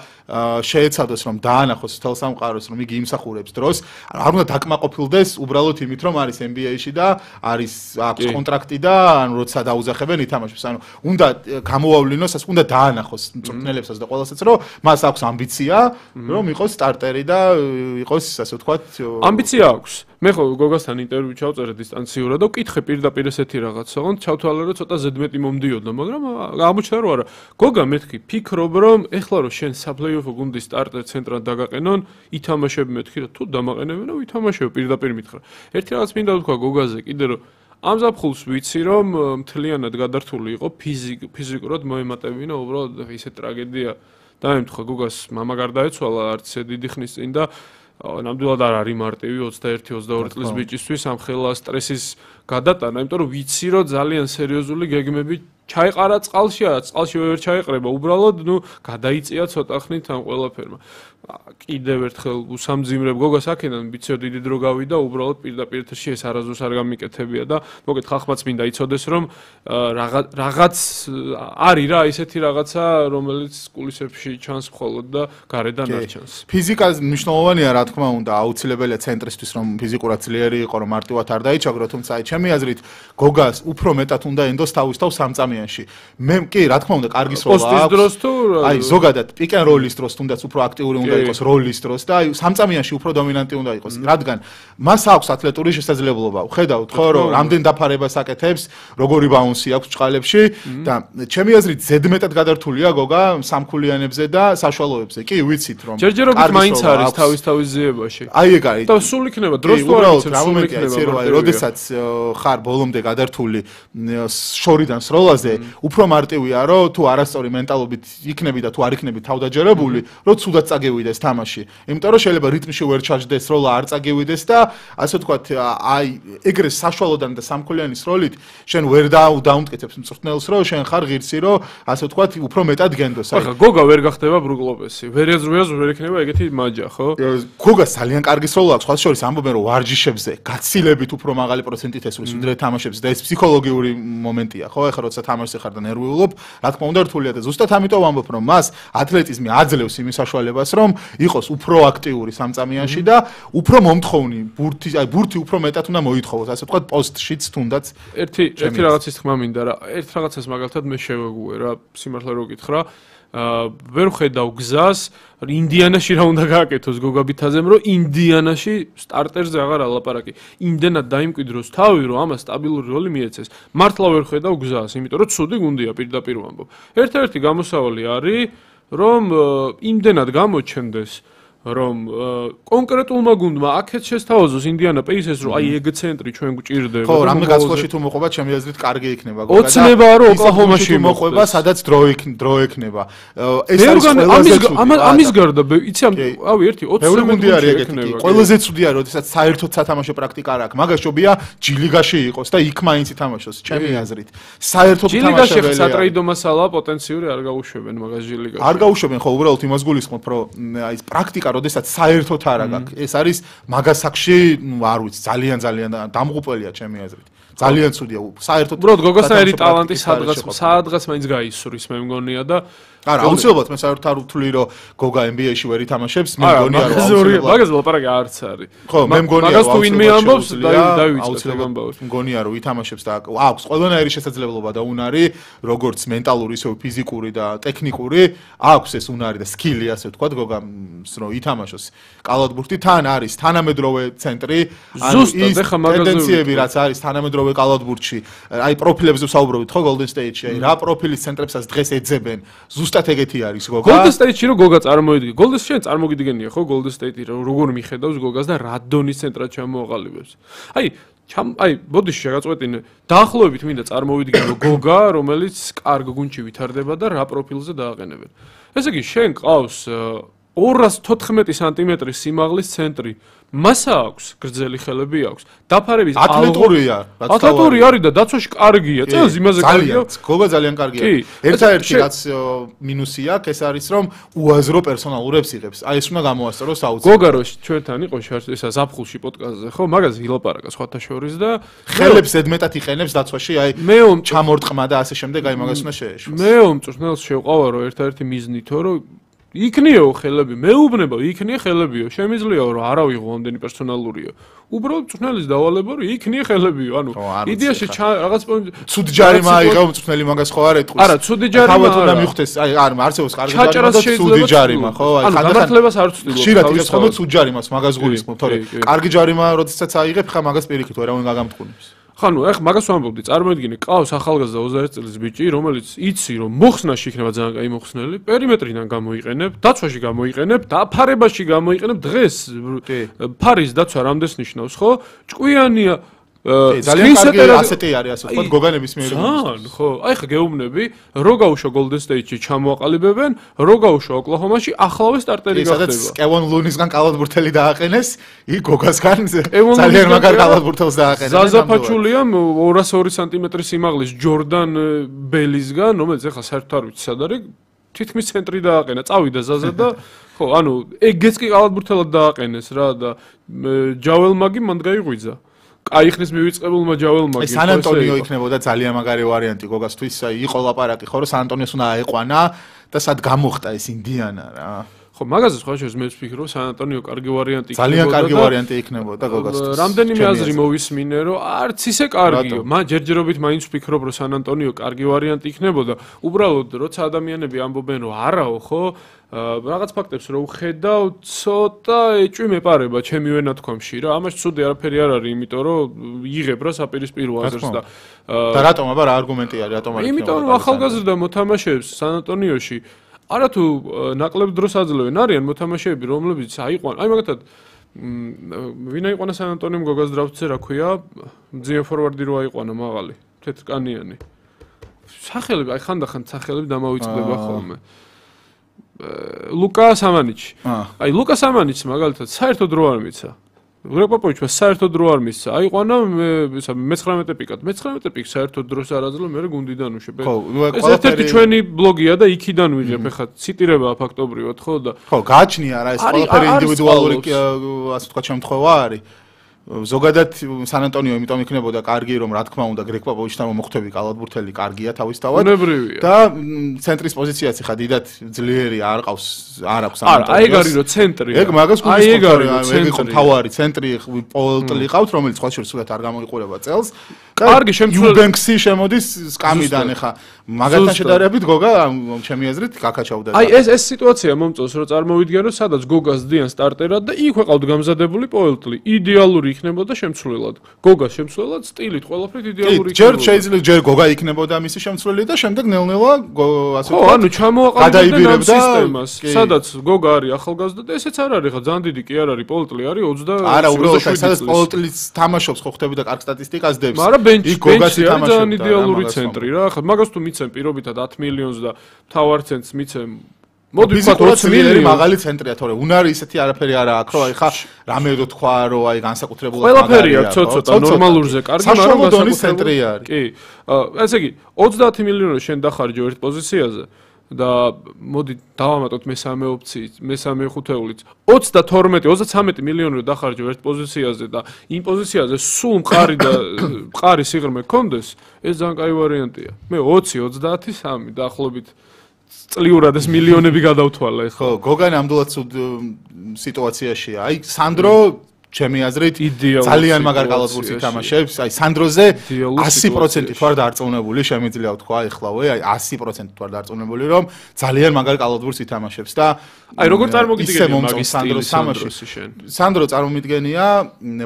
შეეცადოს რომ დაანახოს თელ სამყაროს, რომ იგი იმსახურებს დროს. არ უნდა დაკმაყოფილდეს უბრალოდ იმით, რომ არის ენ ბი ეი-ში და არის აქვს კონტრაქტი და ანუ როცა დაუძახებენ ითამაშებს. ანუ უნდა გამოავლინოს, ასე უნდა დაანახოს მწვრთნელებსაც და ყველასაც, რომ მას აქვს ამბიცია, რომ იყოს სტარტერი და იყოს ასე ვთქვათ. ამბიცია აქვს. მე ხო გოგასთან ინტერვიუ ჩავწერე დისტანციურად და ვკითხე პირდაპირ ესეთი რაღაცა, თქო, ჩავთვალე რომ ცოტა ზედმეტი მომდიოდა, მაგრამ აღმოჩნდა რომ არა. გოგა მეთქი, ფიქრობ რომ ეხლა რომ შენ საპლეიოფო გუნდის სტარტერ ცენტრად დაგაყენონ, ითამაშები მეთქი და თუ დამაყენებენ, ვითამაშებ პირდაპირ მითხრა. ერთი რაღაც მინდა ვთქვა გოგაზე კიდე რომ ამ ზაფხულს ვიცი რომ მთლიანად გადართული იყო ფიზიკურად მოემატებინა უბრალოდ ისე ტრაგედია დაემთხვა გოგას მამა გარდაეცვალა არც დიდი ხნის წინ და ნამდვილად არ არის მარტივი ოცდაერთი ოცდაორი წლის ბიჭისთვის ამ ხელა სტრესის გადატანა, იმიტომ რომ ვიცი რომ ძალიან სერიოზული გეგმები ჩაიყარა წყალში, წყალში ვერ ჩაიყრება, უბრალოდ ნუ გადაიწია ცოტა ხნით ამ ყველაფერმა. კიდევ ერთხელ უსამძიმრებ გოგას აქედან ვიცი დიდი დრო გავიდა, უბრალოდ პირდაპირ ეთერში ეს არასდროს არ გამიკეთებია და მოგეთ ხალხმაც მინდა იცოდეს რომ რაღაც არის რა ისეთი რაღაცა რომელიც კულისებში ჩანს მხოლოდ და გარედან არ ჩანს. ფიზიკა მნიშვნელოვანია რა თქმა უნდა, აუცილებელია ცენტრისთვის რომ ფიზიკურად ძლიერი იყო, რომ მარტივად არ დაიჩაგრო, თუმცა აი ჩემი აზრით გოგას უფრო მეტად უნდა ენდოს თავის თავს სამწამიანში. მე კი რა თქმა უნდა კარგი სროლა აქვს. პოსტის დროს თუ აი ზოგადად pick and roll-ის დროს თუნდაც უფრო აქტიური უნდა იყოს როლის დროს და აი სამწამიანში უფრო დომინანტი უნდა იყოს, რადგან მას აქვს ათლეტური შესაძლებლობა. ვხედავთ ხო რომ რამდენ დაფარებას აკეთებს, როგორი ბაუნსი აქვს ჭყალებში და ჩემი აზრით ზედმეტად გადართულია გოგა სამქულიანებზე და საშუალოებზე. კი ვიცით რომ ჯერჯერობით მაინც არის თავის თავის ზიებაში. აი ეგ არის. და სულ იქნება დროს თუ არ იცი სულ იქნება. აი როდესაც ხარ ბოლომდე გადართული შორიდან სროლაზე, უფრო მარტივია რომ თუ არასწორი მენტალობით იქნები და თუ არ იქნები თავდაჯერებული, რომ ცუდად წაგევიდეს თამაში. იმიტომ რომ შეიძლება რიტმში ვერ ჩაჯდეს, სროლა არ წაგევიდეს და ასე ვთქვათ, აი ეგრე საშუალოდან და სამქულიანის როლით შენ ვერ დაუნტკეთებს მწვრთნელს, რომ შენ ხარ ღირსი, რომ ასე ვთქვათ, უფრო მეტად გენდოს. ახლა გოგა ვერ გახდება ბრუკ ლოპესი. ვერ ეზრუიას ვერ იქნება ეგეთი მაჯა, ხო? გოგას ძალიან კარგი სროლა აქვს, ხალხს შორის ამბობენ რომ ვარჯიშებზე გაცილებით უფრო მაღალი პროცენტით ესვრის ვიდრე თამაშებზე და ეს ფსიქოლოგიური მომენტია, ხო? ახლა როცა თამაშზე ხარ და ნერვიულობ, რა თქმა უნდა რთულია და ზუსტად ამიტომ ვამბობ რომ მას ათლეტიზმი აძლევს იმის საშუალებას, რომ იყოს უფრო აქტიური სამწამიანში და უფრო მომთხოვნი, ბურთი, აი ბურთი უფრო მეტად უნდა მოითხოვოს, ასე ვთქვათ, პოსტშიც თუნდაც. ერთი ერთი რაღაცის თქმა მინდა რა. ერთ რაღაცას მაგალითად მე შევეგუე რა, სიმართლე რო გითხრა, აა ვერ ხედავ გზას ინდიანაში რა უნდა გააკეთოს გოგაბითაზემ, რომ ინდიანაში სტარტერზე აღარ ალაპარაკი. იმდენად დაიმკვიდროს თავი, რომ ამას სტაბილური როლი მიეცეს. მართლა ვერ ხედავ გზას, იმიტომ რომ ცუდი გუნდია პირდაპირ ვამბობ. ერთ-ერთი გამოსავალი არის, რომ იმდენად გამოჩნდეს რომ კონკრეტულმა გუნდმა აქეთ შესთავაზოს ინდიანა პეისერს რომ აი ეგ ცენტრი ჩვენ გვჭირდება. ხო, რამე გასვლაში თუ მოყვება, ჩემი აზრით კარგი იქნება. ოცნებაა რომ ოკლაჰომაში მოყვება, სადაც დრო დრო ექნება. ეს არის ყველაზე ცუდი. ამის გარდა, იცი ამ ავი ერთი ოცნები გუნდი არის ეგეთი. ყველაზე ცუდია, როდესაც საერთოდ სათამაშო პრაქტიკა არ აქვს. მაგაშობია ჯილიგაში იყოს და იქ მაინც ითამაშოს, ჩემი აზრით. საერთოდ თამაშებელია. ჯილიგაში სატრეიდო მასალა პოტენციური არ გაუშვებენ მაგას ჯილიგაში. არ გაუშვებენ, ხო, უბრალოდ იმას გულისხმობ, რომ აი ეს პრაქტიკა როდესაც საერთოდ არ აქვს. ეს არის მაგასაკში, ნუ არ ვიცი, ძალიან ძალიან დამღუპველია ჩემი აზრით. ძალიან ცუდია. საერთოდ უბრალოდ გოგოსაერი ტალანტი სადღაც სადღაც მაინც გაისურის მე მგონია და არა, აუცილებლად მე საერთოდ არ ვთვლი რომ გოგა ენ ბი ეი-ში ვერ ითამაშებს, მე მგონია რომ აუცილებლად მაგას ლაპარაკი არც არის. ხო, მე მგონია მაგას თუ ვინმე ამბობს, დავივიწყებ ამბავს. მგონია რომ ითამაშებს და აქვს ყველანაირი შესაძლებლობა და უნარი, როგორც მენტალური, ისე ფიზიკური და ტექნიკური, აქვს ეს უნარი და სკილი, ასე ვთქვათ, გოგას რომ ითამაშოს. კალათბურთი თან არის თანამედროვე ცენტრი, ანუ ის ტენდენციები რაც არის თანამედროვე კალათბურთში, აი პროფილებზე ვსაუბრობთ, ხო, Golden State-ში, აი რა პროფილის ცენტრებსაც დღეს ეძებენ. ზუსტად ეგეთი არის გოგა. Golden State-ში რო გოგა წარმოვიდგე. Golden State-ში წარმოგიდგენია ხო Golden State-ი როგორ მიხედავს გოგას და რა დონის ცენტრად ჩამოაყალიბებს. აი, ჩამ აი, ბოდიში შეგაწყვეტინე. დაახლოებით მინდა წარმოვიდგინო გოგა, რომელიც კარგ გუნდში ვითარდება და რა პროფილზე დააყენებენ. ესე იგი, შენ ყავს ორას თოთხმეტი სანტიმეტრის სიმაღლის ცენტრი. მასა აქვს, გრძელი ხელები აქვს. დაფარების ათლეტურია, ათლეტური არის და დაცვაში კარგია. წელს იმაზე კარგია. გოგა ძალიან კარგია. ერთადერთი რაც მინუსი აქვს, ეს არის რომ უაზრო პერსონალურებს იღებს. აი ეს უნდა გამოასწოროს აუცილებლად. გოგა რო ჩვენთან იყო ესა ზაფხულში პოდკასტზე, ხო, მაგაზე ილაპარაკა სხვათა შორის და ხელებს ზედმეტად იყენებს დაცვაში, აი ჩამორტყმა და ასე შემდეგ, აი მაგას უნდა შეეშვას. მე უმწვრთნელს შევყავა რომ ერთადერთი მიზნითო რომ იქნიაო ხელები, მეუბნება, იქნია ხელებიო, შემიძლიაო რომ არა ვიღო ამდენი პერსონალურიო. უბრალოდ მწვრთნელის დავალება რომ იქნია ხელებიო, ანუ იდეაში რაღაც ცუდ ჯარიმა აიღო მწვრთნელი მაგას ხო არ ეტყვის. არა, ცუდი ჯარიმა. თავად უნდა მივხვდეს, აი არ არსებობს კარგი ჯარიმა და ცუდი ჯარიმა, ხო? აი განათლებას არ ვცდილობ. ხშირად ის ხომ ცუდ ჯარიმას მაგას გულისხმობ, თორე კარგი ჯარიმა როდესაც აიღებ, ხა მაგას პირიქით ვერავინ გაგამტყუნებს. ხანუ, ეხ მაგას ვამბობდი, წარმოედგინე, ყავს ახალგაზრდა ოცდაერთი წლის ბიჭი, რომელიც იცი, რომ მოხსნაში იქნება ძალიან კაი მოხსნელი, პერიმეტრიდან გამოიყენებ, დაცვაში გამოიყენებ, დაფარებაში გამოიყენებ, დღეს ფარის დაცვა რამდენს ნიშნავს, ხო? ჭკვიანია ძალიან კარგი ასეთი არის, ასე ვთქვათ, გოგანების მიერ. ძალიან, ხო. აი ხა გეუბნები, რო გაუშვა Golden State-ში ჩამოაყალიბებენ, რო გაუშვა Oklahoma-ში ახლავე სტარტერი გახდება. სადაც Kevin Looney-სგან კალათბურთელი დააყენეს, იქ გოგასგან ძალიან მაგარ კალათბურთელს დააყენეს. ზაზაფაჩულიამ ორასი ორი სანტიმეტრის სიმაღლის Jordan Bell-ისგან, რომელიც ახლა საერთოდ არ ვიცი სად არის, თითქმის ცენტრი დააყენა, წავიდა ზაზა და ხო, ანუ ეგეც კი კალათბურთელად დააყენეს რა და Javel Maggi მანდ გაიღვიძა. აი ხნის მივიწყებულმა ჯაველმა კი. სან ანტონიო იქნებოდა ძალიან მაგარი ვარიანტი გოგასთვის, აი იყო ლაპარაკი ხო რომ სან ანტონიოს უნდა აეყვანა და სად გამოხტა ეს ინდიანა რა. ხო, მაგაზე სხვა შეს მე ვფიქრობ, სან ანტონიო კარგი ვარიანტი იქნებოდა. ძალიან კარგი ვარიანტი იქნებოდა გოგასთვის. რამდენიმე აზრი მოვისმინე, რომ არც ისე კარგიო. მა ჯერჯერობით მაინც ვფიქრობ, რომ სან ანტონიო კარგი ვარიანტი იქნებოდა. უბრალოდ როცა ადამიანები ამბობენ, რომ არაო, ხო? რაღაც ფაქტებს რო ვხედავ, ცოტა ეჭვი მეპარება ჩემი ვენათქვამში რა. ამაში ცუდი არაფერი არ არის, იმიტომ რომ იღებ რა საპირისპირო აზრს და და რატომ აბა რა არგუმენტი არის, რატომ არის? იმიტომ რომ ახალგაზრდა მოთამაშეებს სან ანტონიოში არათუ ნაკლებ დროს აძლევენ, არიან მოთამაშეები, რომლებიც აიყვან, აი მაგათად ვინ აიყვანა სან ანტონიომ გოგას დრაფტზე, რა ქვია? მძიმე ფორვარდი რო აიყვანა მაღალი, თეთრკანიანი. სახელები, აი ხანდახან სახელები დამავიწყდება ხოლმე. ლუკა სამანიჩი. აი ლუკა სამანიჩს მაგალითად საერთოდ რო არ მიცა. გრეგ პოპოვიჩმა საერთოდ რო არ მიცა. აიყვანა მეცხრამეტე პიკად. მეცხრამეტე პიკს საერთოდ დროს არ აძლევ, მე გუნდიდან უშვებ. ეს ერთ-ერთი ჩვენი ბლოგია და იქიდან ვიღებ, ეხლა ციტირებაა ფაქტობრივად, ხო და ხო, გააჩნია რა ეს ყველაფერი ინდივიდუალური ასე ვთქვათ შემთხვევა არის. ზოგადად სან ანტონიო იმიტომ იქნებოდა კარგი რომ რა თქმა უნდა გრეგ პოპოვიჩთან მომხვდები კალათბურთელი კარგია თავისთავად და ცენტრის პოზიციაც ხა დიდად ძლიერი არ ყავს არ აქვს სან ანტონიოს. არა, ეგ არის რომ ცენტრი. ეგ მაგას გულისხმობ, ეგ იყო თავარი ცენტრი პოლტლი ყავთ რომელიც სხვა შორის სულად არ გამოიყურება წელს. კარგი შემცვლელი ბენქსი შემოდის სკამიდან ხა მაგათთან შედარებით გოგა ჩემი აზრით გაკაჩავდა. აი ეს ეს სიტუაცია მომწონს რომ წარმოვიდგენ რომ სადაც გოგას დიან სტარტერად და იქ ვეყავთ გამზადებული პოლტლი. იდეალური იქნებოდა შემცვლელად. გოგას შემცვლელად სტილით ყველაფრით იდეალური იქნებოდა. ჯერ შეიძლება ჯერ გოგა იქნებოდა მისი შემცვლელი და შემდეგ ნელ-ნელა ასე ვთქვათ. ხო, ანუ ჩამოაყალიბებდნენ ამ სისტემას. სადაც გოგა არის ახალგაზრდა და ესეც არ არის ხა ძალიან დიდი კი არ არის პოლტლი არის ოცდა. არა, უბრალოდ სადაც პოლტლიც თამაშობს ხო ხტები და კარგ სტატისტიკას დებს. მაგრამ ბენჩი ბენჩი არის ძალიან იდეალური ცენტრი რა. ხა მაგას თუ მიცემ პირობითად ათი მილიონს და თავარ ცენტს მიცემ მოდი ვთქვათ ოცი მილიონი მაღალი ცენტრია, თორე უნარი ისეთი არაფერი არა აქვს, რომ აი ხა რამე რო თქვა, რომ აი განსაკუთრებულად ყველაფერი აქვს ცოტა ნორმალურზე კარგი, მაგრამ განსაკუთრებული არის. კი. ესე იგი ოცდაათი მილიონი შენ დახარჯო ერთ პოზიციაზე და მოდი დავამატოთ მესამე ოპციით, მესამე ხუთეულით. ოცდათორმეტი, ოცდაცამეტი მილიონი რო დახარჯო ერთ პოზიციაზე და იმ პოზიციაზე სულ მყარი და მყარი სიღრმე გქონდეს, ეს ძალიან კაი ვარიანტია. მე ოცი, ოცდაათი, სამი დაახლოებით წლიურად ეს მილიონები გადავთვალა ეს. ხო, გოგა ნამდვილად ცუდ სიტუაციაშია. აი სანდრო ჩემი აზრით ძალიან მაგარ კალათბურთს ითამაშებს. აი სანდროზე ასი პროცენტი ვარ დარწმუნებული, შემიძლია ვთქვა ეხლავე, აი ასი პროცენტი ვარ დარწმუნებული, რომ ძალიან მაგარ კალათბურთს ითამაშებს და აი როგორ წარმოგიდგენია მაგის სტილი სანდროსი შენ? სანდრო წარმომიდგენია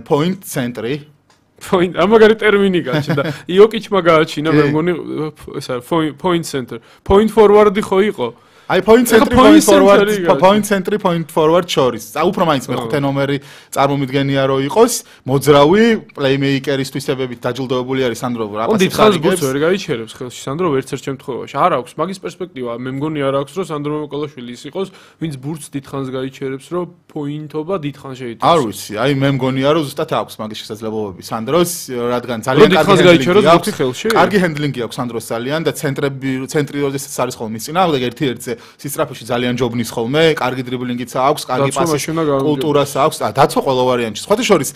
point ცენტრი. point ამაგარი ტერმინი გაჩნდა. იოკიჩმა გააჩინა, მე მგონი ეს point center. point forward-ი ხო იყო? აი point centri point forward point centri point forward შორის. წა უფრო მაინც მეხუთე ნომერი წარმომიდგენია რომ იყოს მოძრავი პლეიმეიკერის თვისებებით დაჯილდოებული არის სანდრო რა. ო დიდხანს ბურთს ვერ გაიჩერებს ხელში სანდრო ვერც ერთ შემთხვევაში. არ აქვს მაგის პერსპექტივა. მე მგონი არ აქვს რომ სანდრო მოკოლაშვილი ის იყოს, ვინც ბურთს დიდხანს გაიჩერებს რომ პოინტობა დიდხანს შეიტანოს. არ ვიცი, აი მე მგონია რომ ზუსტად აქვს მაგის შესაძლებლობები სანდროს, რადგან ძალიან კარგი გაიჩეროს ბურთი ხელში. კარგი ჰენდლინგი აქვს სანდროს ძალიან და ცენტრები ცენტრი როდესაც არის ხოლმე წინააღმდეგ ერთი ერთზე სისტრაფეში ძალიან ჯობნის ხოლმე, კარგი დრიბლინგიც აქვს, კარგი პასის კულტურას აქვს, დაცვა ყველა ვარიანტში. სხვათა შორის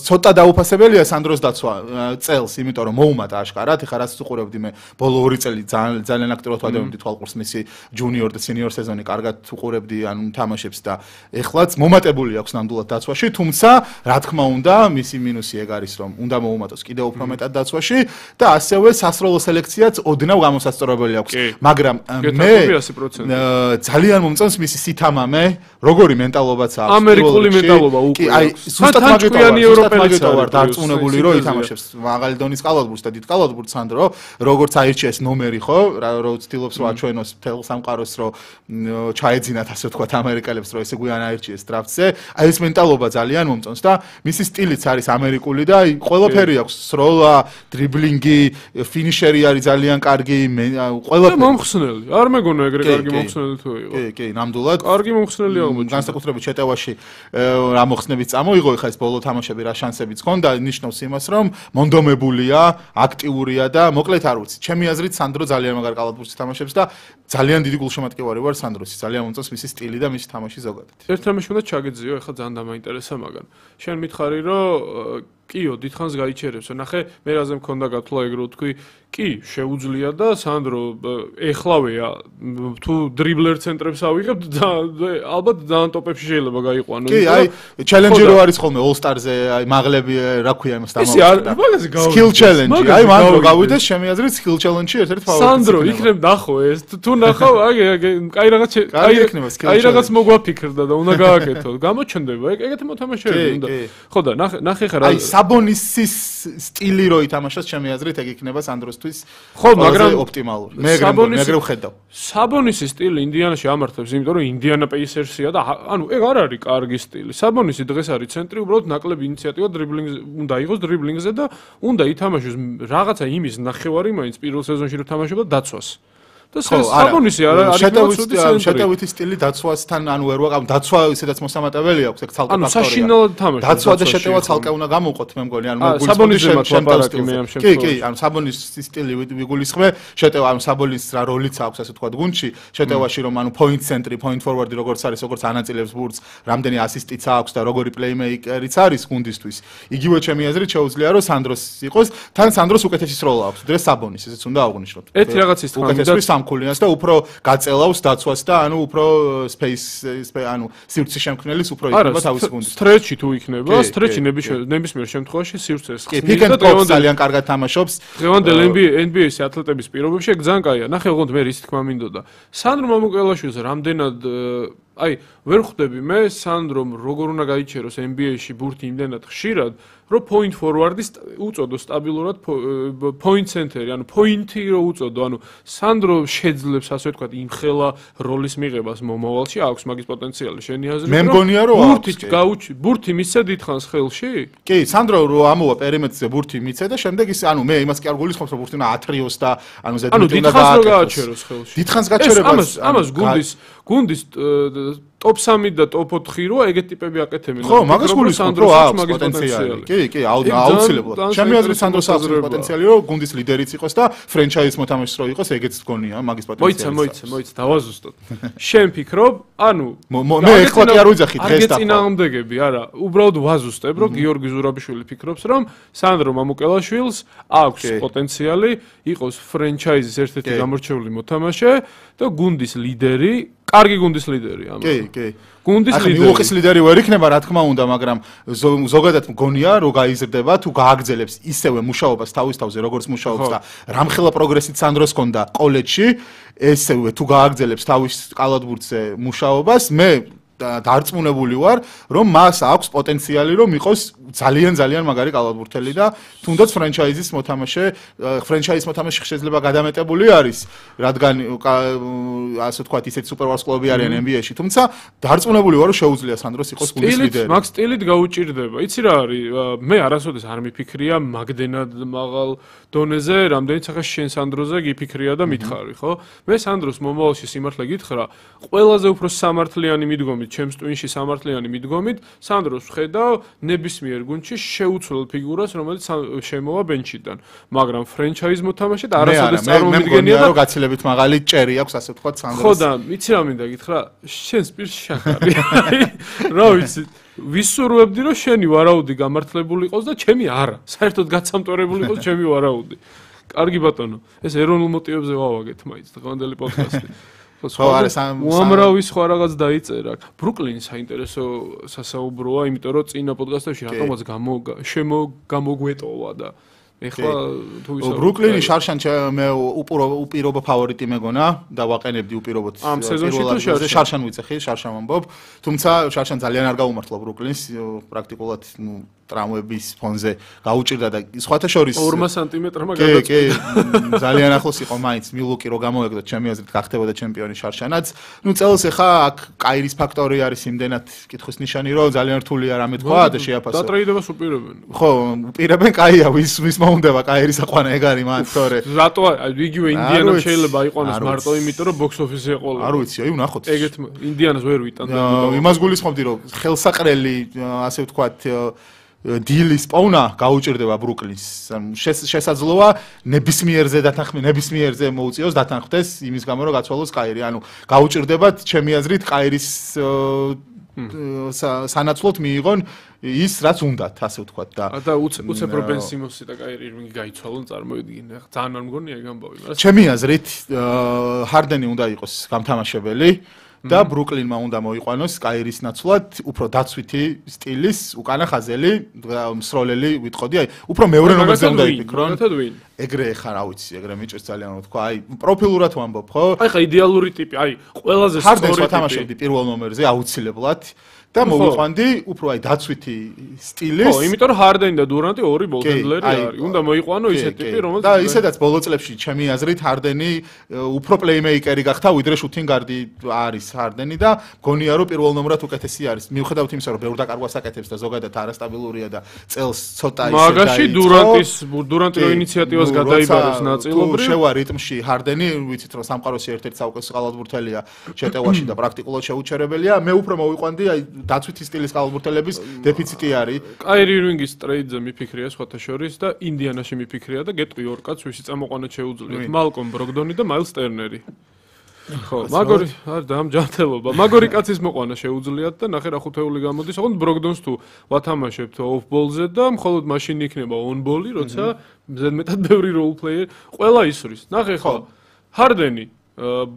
ცოტა დაუფასებელია სანდროს დაცვა წელს, იმიტომ რომ მოუმატა აშკარად, ეხლა რაც უყურებდი მე ბოლო ორი წელი ძალიან ძალიან აქტიურად ვადევნდი თვალყურს მისი ჯუნიორ და სენიორ სეზონი კარგად უყურებდი, ანუ თამაშებს და ეხლაც მომატებული აქვს ნამდვილად დაცვაში, თუმცა რა თქმა უნდა, მისი მინუსი ეგ არის, რომ უნდა მოუმატოს კიდევ უფრო მეტად დაცვაში და ასევე სასროლო სელექციაც ოდნავ გამოსასწორებელი აქვს, მაგრამ მე ძალიან მომწონს მისი სითამამე, როგორი მენტალობაც აქვს. ამერიკული მენტალობა უკვე. კი, აი, ზუსტად მაგითო ვარ დარწმუნებული, რომ ითამაშებს მაღალი დონის კალათბურთს და დიდ კალათბურთს სანდრო, როგორც აირჩიეს ნომერი, ხო? რო ცდილობს რომ აჩვენოს მთელ სამყაროს, რომ ჩაეძინათ ასე ვთქვათ ამერიკელებს, რომ ესე გვიან აირჩიეს დრაფტზე. აი ეს მენტალობა ძალიან მომწონს და მისი სტილიც არის ამერიკული და აი ყველაფერი აქვს, სროლა, დრიბლინგი, ფინიშერი არის ძალიან კარგი, ყველაფერი. მომხსნელი. არ მეგონა ეგრე კარგი მომხსნელი თუ იყო. კი, კი, ნამდვილად. კარგი მომხსნელი აღმოჩნდა. განსაკუთრებით შეტევაში რა მოხსნებიც წამოიღო, ეხლა ეს ბოლო თამაშები რა შანსებიც ჰქონდა, ნიშნავს იმას, რომ მონდომებულია, აქტიურია და მოკლედ არ ვიცი. ჩემი აზრით სანდრო ძალიან მაგარ კალათბურთს თამაშობს და ძალიან დიდი გულშემატკივარი ვარ სანდროსის. ძალიან მომწონს მისი სტილი და მისი თამაში ზოგადად. ერთ თამაში უნდა ჩაგეძიო, ეხლა ძალიან დამაინტერესა მაგან. შენ მითხარი, რომ კიო დიდხანს გაიჩერებსო. ნახე, მე რაზე მქონდა გათვლა ეგ რო თქვი, კი, შეუძლია და სანდრო ეხლავეა თუ დრიბლერ ცენტრებს ავიღებთ და ალბათ ძალიან ტოპებში შეიძლება გაიყვანო. კი, აი, ჩელენჯი რო არის ხოლმე All-Star-ზე, აი მაღლები რა ქვია იმას დამავიწყდა. Skill challenge. აი მან რო გავიდეს, შემი აზრით skill challenge-ი ერთ-ერთი ფავორიტი. სანდრო, იქნებ ნახო ეს, თუ ნახავ, აი, კაი რაღაც კაი რაღაც მოგვაფიქრდა და უნდა გააკეთო. გამოჩნდება, ეგეთი მოთამაშეები უნდა. ხო და ნახე, ნახე ხარ აი საბონისის სტილი რო ითამაშოს, ჩემი აზრით ეგ იქნება სანდროსთვის ხო, მაგრამ ოპტიმალური. მე ეგრე ეგრე ვხედავ. საბონისის სტილი ინდიანაში ამართებს, იმიტომ რომ ინდიანა პეისერსია და ანუ ეგ არ არის კარგი სტილი. საბონისი დღეს არის ცენტრი, უბრალოდ ნაკლები ინიციატივა დრიბლინგზე უნდა იყოს დრიბლინგზე და უნდა ითამაშოს რაღაცა იმის ნახევარი მაინც პირველ სეზონში რო თამაშობდა დაცვას. და საბონისი არა არის შეტევითი სტილი დაცვასთან ანუ ვერ ვაყავ დაცვა ისედაც მოსამატებელი აქვს ეგ ცალკე ფაქტორია. ანუ საშინელად თამაშობს. დაცვა და შეტევა ცალკე უნდა გამოვყოთ მე მგონი ანუ საბონისზე მათლაპარაკი მე ამ შემთხვევაში. კი, კი, ანუ საბონისის სტილი ვიგულისხმე, შეტევა ანუ საბონის რა როლიც აქვს ასე ვთქვათ გუნდში, შეტევაში რომ ანუ point center, point forward როგორც არის, როგორც ანაწილებს ბურთს, რამდენი ასისტიც აქვს და როგორი playmaker-იც არის გუნდისთვის. იგივე ჩემი აზრით შეუძლია რომ სანდროს იყოს, თან სანდროს უკეთესი სროლა აქვს. დღეს საბონის ესეც უნდა აღვნიშნოთ. ერთი რაღაცის თქმა სამქულიანს და უფრო გაწელავს დაცვას და ანუ უფრო space ანუ სივრცის შემქმნელის უფრო იქნება თავის გუნდში. სტრეჩი თუ იქნება, სტრეჩი ნებისმიერ შემთხვევაში სივრცეს ხსნის და დღევანდელ ძალიან კარგად თამაშობს. დღევანდელ N B A-ის ათლეტების პირობებში ეგ ძალიან კაია. ნახე, ოღონდ მე რის თქმა მინდოდა. სანდრო მამუკელაშვილს რამდენად აი ვერ ხვდები მე სანდრომ როგორ უნდა გაიჩეროს N B A-ში ბურთი იმდენად ხშირად, რომ point forward-ის უწოდო სტაბილურად point center-ი, ანუ point-ი რო უწოდო, ანუ სანდრო შეძლებს ასე ვთქვათ იმხელა როლის მიღებას მომავალში, აქვს მაგის პოტენციალი. შენი აზრით? მე მგონია რომ ბურთი გაუჩი, ბურთი მისცე დიდხანს ხელში? კი, სანდრო რო ამოვა პერიმეტრზე ბურთი მიცე და შემდეგ ის ანუ მე იმას კი არ გულისხმობ რომ ბურთი უნდა ათრიოს და ანუ ზედმეტი უნდა გააჩეროს ხელში. დიდხანს გაჩერებას ამას გუნდის გუნდის ტოპ სამი და ტოპ ოთხი რო ეგეთ ტიპები აკეთებენ. ხო, მაგას გულისხმობ რომ აქვს პოტენციალი. კი, კი, აუცილებლად. ჩემი აზრით სანდროს აქვს პოტენციალი რომ გუნდის ლიდერიც იყოს და ფრენჩაიზ მოთამაშის რო იყოს, ეგეც გონია მაგის პოტენციალი. მოიცა, მოიცა, მოიცა, დავაზუსტოთ. შენ ფიქრობ, ანუ მე ეხლა კი არ ვიძახი დღეს და წინააღმდეგები, არა, უბრალოდ ვაზუსტებ, რომ გიორგი ზურაბიშვილი ფიქრობს, რომ სანდრო მამუკელაშვილს აქვს პოტენციალი იყოს ფრენჩაიზის ერთ-ერთი გამორჩეული მოთამაშე და გუნდის ლიდერი, კარგი გუნდის ლიდერი ამას. კი, კი. გუნდის ლიდერი. მიუღის ლიდერი ვერ იქნება, რა თქმა უნდა, მაგრამ ზოგადად მგონია, რომ გაიზრდება თუ გააგრძელებს ისევე მუშაობას თავის თავზე, როგორც მუშაობს და რამხელა პროგრესით სანდროს ჰქონდა კოლეჯში, ესევე თუ გააგრძელებს თავის კალათბურთზე მუშაობას, მე დარწმუნებული ვარ, რომ მას აქვს პოტენციალი, რომ იყოს ძალიან ძალიან მაგარი კალათბურთელი და თუნდაც ფრენჩაიზის მოთამაშე, ფრენჩაიზის მოთამაშე შეიძლება გადამეტებული არის, რადგან ასე ვთქვათ, ისეთ სუპერვარს კლუბები არიან N B A-ში, თუმცა დარწმუნებული ვარ, რომ შეუძლია სანდროს იყოს გუნდის ლიდერი. მაგ სტილით გაუჭირდება. იცი რა არის? მე არასოდეს არ მიფიქრია მაგდენად მაღალ დონეზე, რამდენიც ახლა შენ სანდროზე გიფიქრია და მითხარი, ხო? მე სანდროს მომავალში სიმართლე გითხრა, ყველაზე უფრო სამართლიანი მიდგომით ჩემს ტვინში სამართლიანი მიდგომით, სანდროს ვხედავ ნებისმიერ გუნდში შეუცვლელ ფიგურას, რომელიც შემოვა ბენჩიდან, მაგრამ ფრენჩაიზ მოთამაშედ არასოდეს წარმომიდგენია და გაცილებით მაღალი ჭერი აქვს, ასე ვთქვათ, სანდროს. ხო და იცი რა მინდა გითხრა, შენს პირში შახარი. რა ვიცი, ვისურვებდი რომ შენი ვარაუდი გამართლებული იყოს და ჩემი არა. საერთოდ გაცამტვერებული იყოს ჩემი ვარაუდი. კარგი ბატონო, ეს ეროვნულ მოტივებზე ვავაგეთ მაინც დღევანდელი პოდკასტი. ხო, არა, სამ უამრავი სხვა რაღაც დაიწერა. ბრუკლინი საინტერესო სასაუბროა, იმიტომ რომ წინა პოდკასტებში რატომაც გამოგვეტოვა და ეხლა თუ ისე ბრუკლინი შარშან მე უპირობო ფავორიტი მეგონა და ვაყენებდი უპირობოდ ამ სეზონში თუ შარშან ვიწეხი, შარშან ვამბობ, თუმცა შარშან ძალიან არ გაუმართლა ბრუკლინს, პრაქტიკულად ნუ ტრამვების ფონზე გაუჭირდა და სხვათა შორის ორი სანტიმეტრმა გადაწყვიტა. კი, კი, ძალიან ახლოს იყო მაინც მილვოკი რო გამოვეკდოთ, ჩემი აზრით გახდებოდა ჩემპიონი შარშანაც. ნუ წელს ახლა აქ კაირის ფაქტორი არის იმდენად კითხვის ნიშანი, რომ ძალიან რთულია რამე თქვა და შეაფასო. და ტრეიდებას უპირებენ. ხო, უპირებენ, კაია, ვის ვის მოუნდება კაირის აყვანა ეგ არის მან, თორე. რატო იგივე ინდიანამ შეიძლება იყონოს მარტო იმიტომ, რომ box office-ზე ეყოლა. არ ვიცი, აი ვნახოთ. ეგეთ ინდიანას ვერ ვიტანდა. იმას გულისხმობდი, რომ ხელსაყრელი, ასე ვთქვათ, დილის პოვნა გაუჭირდება ბრუკლინს. შესაძლოა ნებისმიერზე დათანხმდეს, ნებისმიერზე მოუწიოს დათანხმდეს იმის გამო რომ გაცვალოს კაირი. ანუ გაუჭირდებათ ჩემი აზრით კაირის სანაცვლოდ მიიღონ ის რაც უნდათ, ასე ვთქვათ და და უცებრო ბენ სიმონსი და კაირი ირვინგი გაიცვალონ, წარმოიდგინე. ძალიან არ მგონია ეგ ამბავი, მაგრამ ჩემი აზრით ჰარდენი უნდა იყოს გამთამაშებელი. და ბრუკლინმა უნდა მოიყვანოს კაირის ნაცვლად უფრო დაცვითი სტილის უკანა ხაზელი მსროლელი ვიტყოდი, აი უფრო მეორე ნომერზე უნდა იფიქრონ. ეგრე ხარ, რა ვიცი, ეგრე მიჭირს ძალიან თქვა, აი პროფილურად ვამბობ, ხო? აი ხა იდეალური ტიპი, აი ყველაზე სწორი ტიპი. ჰარდენს ვათამაშებდი პირველ ნომერზე აუცილებლად. და მოვიყვანდი უფრო აი დაცვითი სტილის. ხო, იმიტომ რომ ჰარდენი და დურანტი ორი ბოლჰენდლერი არის. უნდა მოიყვანო ისეთი ტიპი, რომელიც და ისედაც ბოლო წლებში ჩემი აზრით ჰარდენი უფრო პლეიმეიკერი გახდა, ვიდრე შუთინგარდი არის ჰარდენი და მგონია რომ პირველ ნომრად უკეთესი არის. მიუხედავად იმისა, რომ ბევრ დაკარგვას აკეთებს და ზოგადად არასტაბილურია და წელს ცოტა ისე დაიწყო. მაგაში დურანტის დურანტი რო ინიციატივას გადაიბარეს ნაწილობრივ. შევა რიტმში ჰარდენი, ვიცით რომ სამყაროში ერთ-ერთი საუკეთესო ყალბურთელია შეტევაში და პრაქტიკულად შეუჩერებელია. მე უფრო მოვიყვანდი აი დაცვითი სტილის ყალბურთელების დეფიციტი არის. კაირი ირვინგის ტრეიდზე მიფიქრია სხვათა შორის და ინდიანაში მიფიქრია და გეტყვი ორ კაცს ვისი წამოყვანა შეუძლიათ. მალკომ ბროგდონი და მაილს ტერნერი. ხო, მაგორი არ დამჯანმრთელობა. მაგორი კაცის მოყვანა შეუძლიათ და ნახე რა ხუთეული გამოდის. ოღონდ ბროგდონს თუ ვათამაშებთ ოფ-ბოლზე და მხოლოდ მაშინ იქნება on-ბოლი, როცა ზედმეტად ბევრი role player ყველა ისვრის. ნახე ხო, ჰარდენი,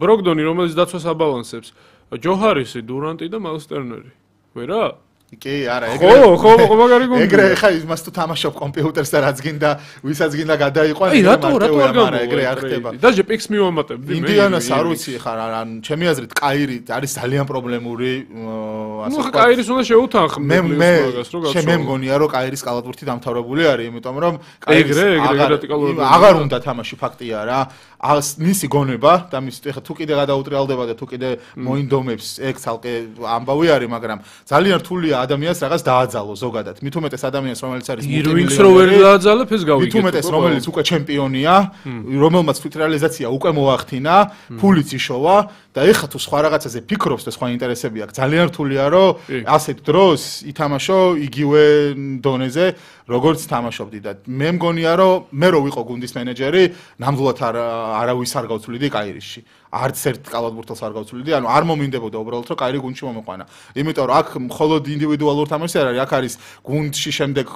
ბროგდონი, რომელიც დაცვას აბალანსებს, ჯო ჰარისი, დურანტი და მაილს ტერნერი. ვერა? კი, არა, ეგრე. ხო, ხო, მაგარი გუნდი. ეგრე ხა იმას თუ თამაშობ კომპიუტერს და რაც გინდა, ვისაც გინდა გადაიყვან, აი, რატო, რატო არ გამარა, ეგრე არ ხდება. დაჟე პიქს მივამატებდი მე. ინდიანას არ ვიცი ხარ, ან ჩემი აზრით კაირი არის ძალიან პრობლემური, ასე ვთქვათ. ნუ კაირის უნდა შეუთანხმდე მაგას, რო გაცო. მე მგონია, რომ კაირის კალათბურთი დამთავრებული არის, იმიტომ რომ კაირის აღარ უნდა თამაში, ფაქტია რა. მისი გონება და მის ეხა თუ კიდე გადაუტრიალდება და თუ კიდე მოინდომებს, ეგ ცალკე ამბავი არის, მაგრამ ძალიან რთულია ადამიანს რაღაც დააძალო ზოგადად. მით უმეტეს ადამიანს, რომელიც არის ირვინგს რო ვერ დააძალებ, ეს გავიგეთ. მით უმეტეს რომელიც უკვე ჩემპიონია, რომელმაც თვითრეალიზაცია უკვე მოახდინა, ფულიც იშოვა და ეხა თუ სხვა რაღაცაზე ფიქრობს და სხვა ინტერესები აქვს, ძალიან რთულია რომ ასეთ დროს ითამაშო იგივე დონეზე, როგორც თამაშობდი და მე მგონია რომ მე რო ვიყო გუნდის მენეჯერი, ნამდვილად არ არავის არ გავცვლიდი კაირისში. არც ერთ კალათბურთელს არ გავცვლიდი, ანუ არ მომინდებოდა უბრალოდ რომ კაირი გუნდში მომეყვანა. იმიტომ რომ აქ მხოლოდ ინდივიდუალურ თამაშს არ არის, აქ არის გუნდში შემდეგ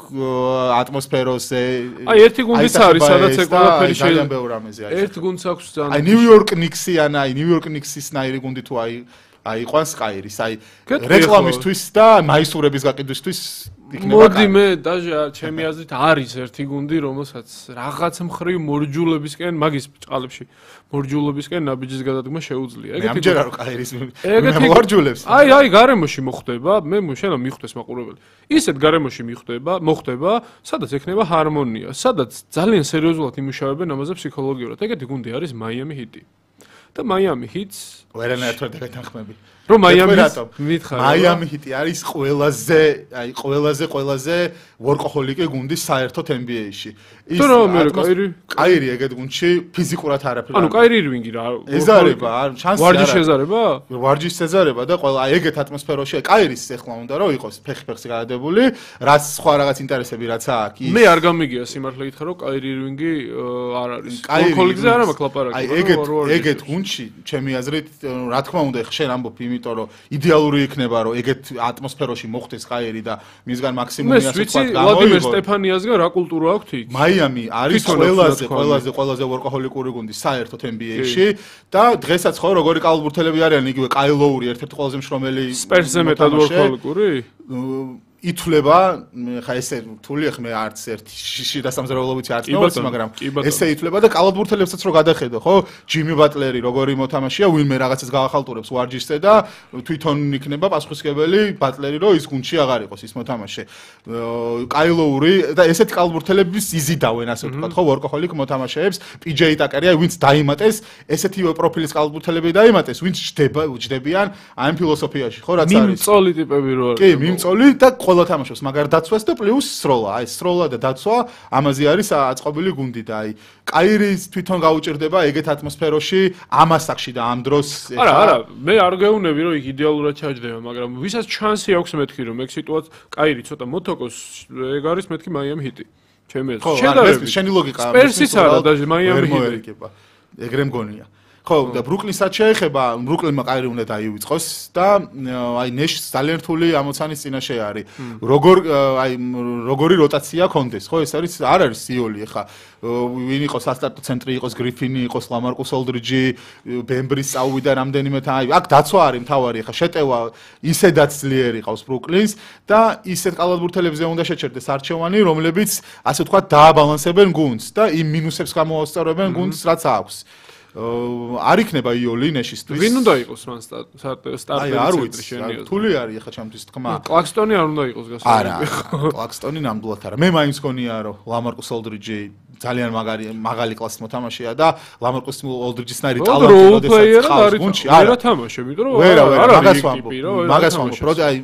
ატმოსფეროზე. აი ერთი გუნდიც არის, სადაც ეგ ყველაფერი შეიძლება ბევრ რამეზე არის. ერთ გუნდს აქვს ძალიან. აი ნიუ-იორკ ნიქსი ან აი ნიუ-იორკ ნიქსის ნაირი გუნდი თუ აი აიყვანს კაირის, აი რეკლამისთვის და მაისურების გაყიდვისთვის მოდი მე დაჟე ჩემი აზრით არის ერთი გუნდი რომელსაც რაღაც მხრივ მორჯულებისკენ მაგის ჭყალებში მორჯულებისკენ ნაბიჯის გადადგმა შეუძლია. ეგეთი ამჯერა რო კაირის მე მორჯულებს. აი აი გარემოში მოხდება, მე შენა მიხვდეს მაყურებელი. ისეთ გარემოში მიხვდება, მოხდება, სადაც ექნება ჰარმონია, სადაც ძალიან სერიოზულად იმუშავებენ ამაზე ფსიქოლოგიურად. ეგეთი გუნდი არის მაიამი ჰიტი. და მაიამი ჰიტს ვერანაირად ვერ დაგეთანხმები. რომ მაიამის მითხარ მაიამი ჰიტი არის ყველაზე აი ყველაზე ყველაზე ვორკოჰოლიკი გუნდი საერთოდ ენ ბი ეი-ში ის კაირი კაირი ეგეთ გუნდში ფიზიკურად არაფერი ანუ კაირი ირვინგი რა ეზარება არ შანსი არა ვარჯიშ ეზარება ვარჯიშ ეზარება და ყველა აი ეგეთ ატმოსფეროში კაირის ეხლა უნდა რომ იყოს ფეხი-ფეხზე გადადებული რაც სხვა რაღაც ინტერესები რაც აქვს მე არ გამიგია სიმართლე გითხრა რომ კაირი ირვინგი არ არის ვორკოჰოლიკზე არ მაქვს ლაპარაკი აი ეგეთ ეგეთ გუნდში ჩემი აზრით რა თქმა უნდა ხშენ ამბობ იმიტომ რომ იდეალური იქნება რომ ეგეთ ატმოსფეროში მოხდეს კაირი და მისგან მაქსიმუმი ასე თქვა გამოიღო ვლადიმერ სტეფანიასგან რა კულტურა აქვს იქ მაიამი არის ყველაზე ყველაზე ყველაზე ვორკოჰოლიკური გუნდი საერთოდ ენ ბი ეი-ში და დღესაც ხო როგორი კალათბურთელები არიან იგივე კაი ლოური ერთ-ერთი ყველაზე მშრომელი სპერსზე მეტად ვორკოჰოლიკური ითვლება ხა ესე რთულია ხმე არც ერთი შიდა სამზარეულობითი არც ნაოცი მაგრამ ესე ითვლება და კალათბურთელებსაც რო გადახედო ხო ჯიმი ბატლერი როგორი მოთამაშეა ვინმე რაღაცას გაახალტურებს ვარჯიშზე და თვითონ იქნება პასუხისმგებელი ბატლერი რო ის გუნდში აღარ იყოს ის მოთამაშე კაი ლოური და ესეთი კალათბურთელების იზიდავენ ასე ვთქვათ ხო ვორკოჰოლიკ მოთამაშეებს პი ჯეი ტაკერია ვინც დაიმატეს ესეთი პროფილის კალათბურთელები დაიმატეს ვინც ჯდება ჯდებიან ამ ფილოსოფიაში ხო რაც არის მიმწოლი ტიპები რო არის კი მიმწოლი და ყველა თამაშობს, მაგრამ დაცვას და პლუს სროლა. აი, სროლა და დაცვა ამაზე არის აწყობილი გუნდი და აი, კაირის თვითონ გაუჭირდება ეგეთ ატმოსფეროში ამასაკში და ამ დროს არა, არა, მე არ გეუნები რომ იქ იდეალურად ჩაჯდება, მაგრამ ვისაც ჩანსი აქვს მეთქი რომ ეგ სიტუაცია კაირი ცოტა მოთოკოს, ეგ არის მეთქი მაიამი ჰიტი. ჩემი აზრით. შედარებით შენი ლოგიკა სპერსის არა და მაიამი ჰიტი. ეგრე მგონია. ხო, და ბრუკლინსაც შეეხება, ბრუკლინმა კაირი უნდა დაივიწყოს და აი ნეშს ძალიან რთული ამოცანის წინაშე არის. როგორ აი როგორი როტაცია კონდეს, ხო, ეს არის არ არის სიოლი ხა. ვინ იყოს ასტარტო ცენტრი, იყოს გრიფინი, იყოს ლამარკუს ოლდრიჯი, ბემბრის წაუვიდა რამდენიმე თან. აი, აქ დაცვა არის მთავარი ხა, შეტევა ისედაც ძლიერი ყავს ბრუკლინს და ისეთ კალათბურთელებზე უნდა შეჩერდეს არჩევანი, რომლებიც ასე ვთქვათ დააბალანსებენ გუნდს და იმ მინუსებს გამოასწორებენ გუნდს, რაც აქვს. არ იქნება იოლი ნეშისთვის. ვინ უნდა იყოს მან სტარტერი ცენტრი შენი? რთული არის ახლა ჩემთვის თქმა. კლაქსტონი არ უნდა იყოს გასაგები. არა, კლაქსტონი ნამდვილად არა. მე მაინც გონია რომ ლამარკუს ოლდრიჯი ძალიან მაგარი მაგალი კლასის მოთამაშეა და ლამარკუს ოლდრიჯისნაირი ტალანტი როდესაც ყავს გუნდში. არა თამაშე, იმიტომ რომ არა, მაგას ვამბობ. მაგას ვამბობ. პროდი აი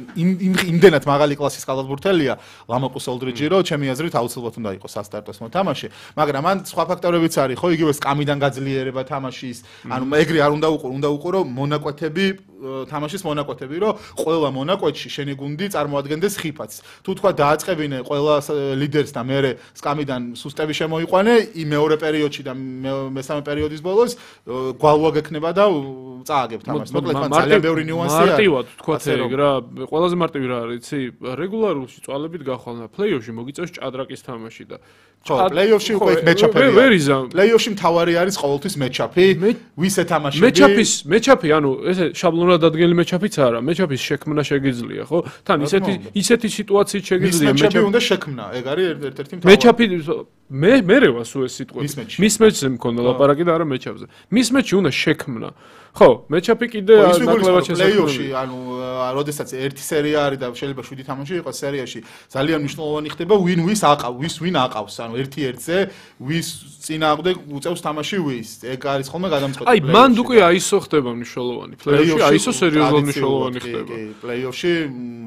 იმდენად მაგალი კლასის კალათბურთელია ლამარკუს ოლდრიჯი, რომ ჩემი აზრით აუცილებლად უნდა იყოს ასტარტოს მოთამაშე, მაგრამ მან სხვა ფაქტორებიც არის, ხო, იგივე სკამიდან გაძლიერება თამაშის, ანუ ეგრე არ უნდა უყურო, უნდა უყურო მონაკვეთები, თამაშის მონაკვეთები, რომ ყველა მონაკვეთში შენი გუნდი წარმოადგენდეს ხიფათს. თუ თქვა დააწყებინე ყველა ლიდერს და მეორე სკამიდან სუსტები შემოიყვანე, იმ მეორე პერიოდში და მესამე პერიოდის ბოლოს გვალვა გექნება და წააგებ თამაშს. მოკლედ მან ძალიან ბევრი ნიუანსი არის. მარტივად თქვა ეგ რა, ყველაზე მარტივი რა არის, იცი, რეგულარულში წვალებით გახვალნა, პლეიოფში მოგიწევს ჭადრაკის თამაში და ხო, პლეიოფში უკვე მეჩაპია. პლეიოფში მთავარი არის ყოველთვის მეჩაპი. ვის ეთამაშები? მეჩაპის, მეჩაპი, ანუ ესე შაბლონად დადგენილი მეჩაპიც არა, მეჩაპის შექმნა შეგიძლია, ხო? თან ისეთი ისეთი სიტუაციით შეგიძლია მეჩაპი უნდა შექმნა. ეგ არის ერთ-ერთი მთავარი. მეჩაპი მე მერე ვას უეს სიტყვები. მის მეჩზე მქონდა ლაპარაკი და არა მეჩაპზე. მის მეჩი უნდა შექმნა. ხო, მეჩაპი კიდე ნაკლებად შესაძლებელი. ანუ როდესაც ერთი სერია არის და შეიძლება შვიდი თამაში იყოს სერიაში, ძალიან მნიშვნელოვანი ხდება ვინ ვის აყავს, ვის ვინ აყავს, ანუ ერთი ერთზე ვის წინააღმდეგ უწევს თამაში ვის. ეგ არის ხოლმე გადამწყვეტი. აი, მანდ უკვე აისო ხდება მნიშვნელოვანი. პლეიოფში აისო სერიოზულად მნიშვნელოვანი ხდება. კი, პლეიოფში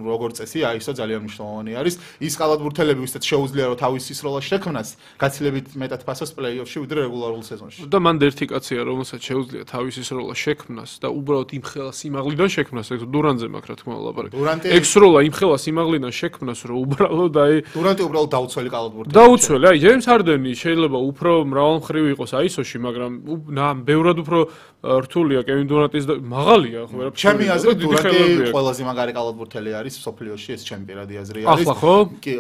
როგორც წესი აისო ძალიან მნიშვნელოვანი არის. ის კალათბურთელები ვისაც შეუძლია რომ თავისი სროლა შექმნას, გაცილებით მეტად ფასოს პლეიოფში ვიდრე რეგულარულ სეზონში. და მანდ ერთი კაცია, რომელსაც შეუძლია თავისი სროლა შექმნას და უბრალოდ იმ ხელა სიმაღლიდან შექმნას, ეგ დურანზე მაქვს რა თქმა უნდა ლაპარაკი. ეგ სროლა იმ ხელა სიმაღლიდან შექმნას, რომ უბრალოდ აი დურანტი უბრალოდ დაუცველი კალათბურთელია. დაუცველი, აი ჯეიმს ჰარდენი შეიძლება უფრო მრავალმხრივი იყოს აისოში, მაგრამ ბევრად უფრო რთულია კევინ დურანტის და მაღალია ხო ვერაფერი. ჩემი აზრით დურანტი ყველაზე მაგარი კალათბურთელი არის სოფლიოში, ეს ჩემი პირადი აზრი არის. ახლა ხო? კი,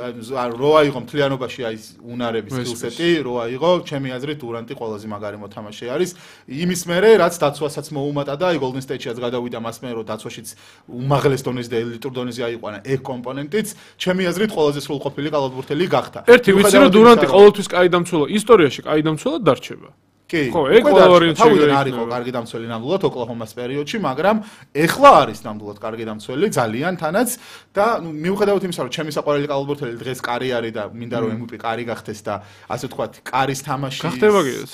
რო აიღო მთლიანობაში აი უნარების სკილსეტი, რო აიღო, ჩემი აზრით დურანტი ყველაზე მაგარი მოთამაშე არის. იმის მერე რაც დაცვასაც მოუმატა და აი გოლდენ სტეიტშიც გადავიდა მას მერე, რომ დაცვაშიც უმაღლეს დონეზე და ელიტურ დონეზე აიყვანა ეგ კომპონენტიც, ჩემი აზრით ყველაზე სრულყოფილი კალათბურთელი გახდა. ერთი ვიცი რომ დურანტი ყოველთვის კაი დამცველა, ისტორიაში კაი დამცველად დარჩება. კი, ხო, ეგ ყველა ვარიანტი თავიდან არ იყო კარგი დამცველი ნამდვილად ოკლაჰომას პერიოდში, მაგრამ ეხლა არის ნამდვილად კარგი დამცველი, ძალიან თანაც და ნუ მიუხედავად იმისა, რომ ჩემი საყვარელი კალათბურთელი დღეს კარი არის და მინდა რომ ემ ვი პი კარი გახდეს და ასე ვთქვათ, კარის თამაში გახდება კიდეც.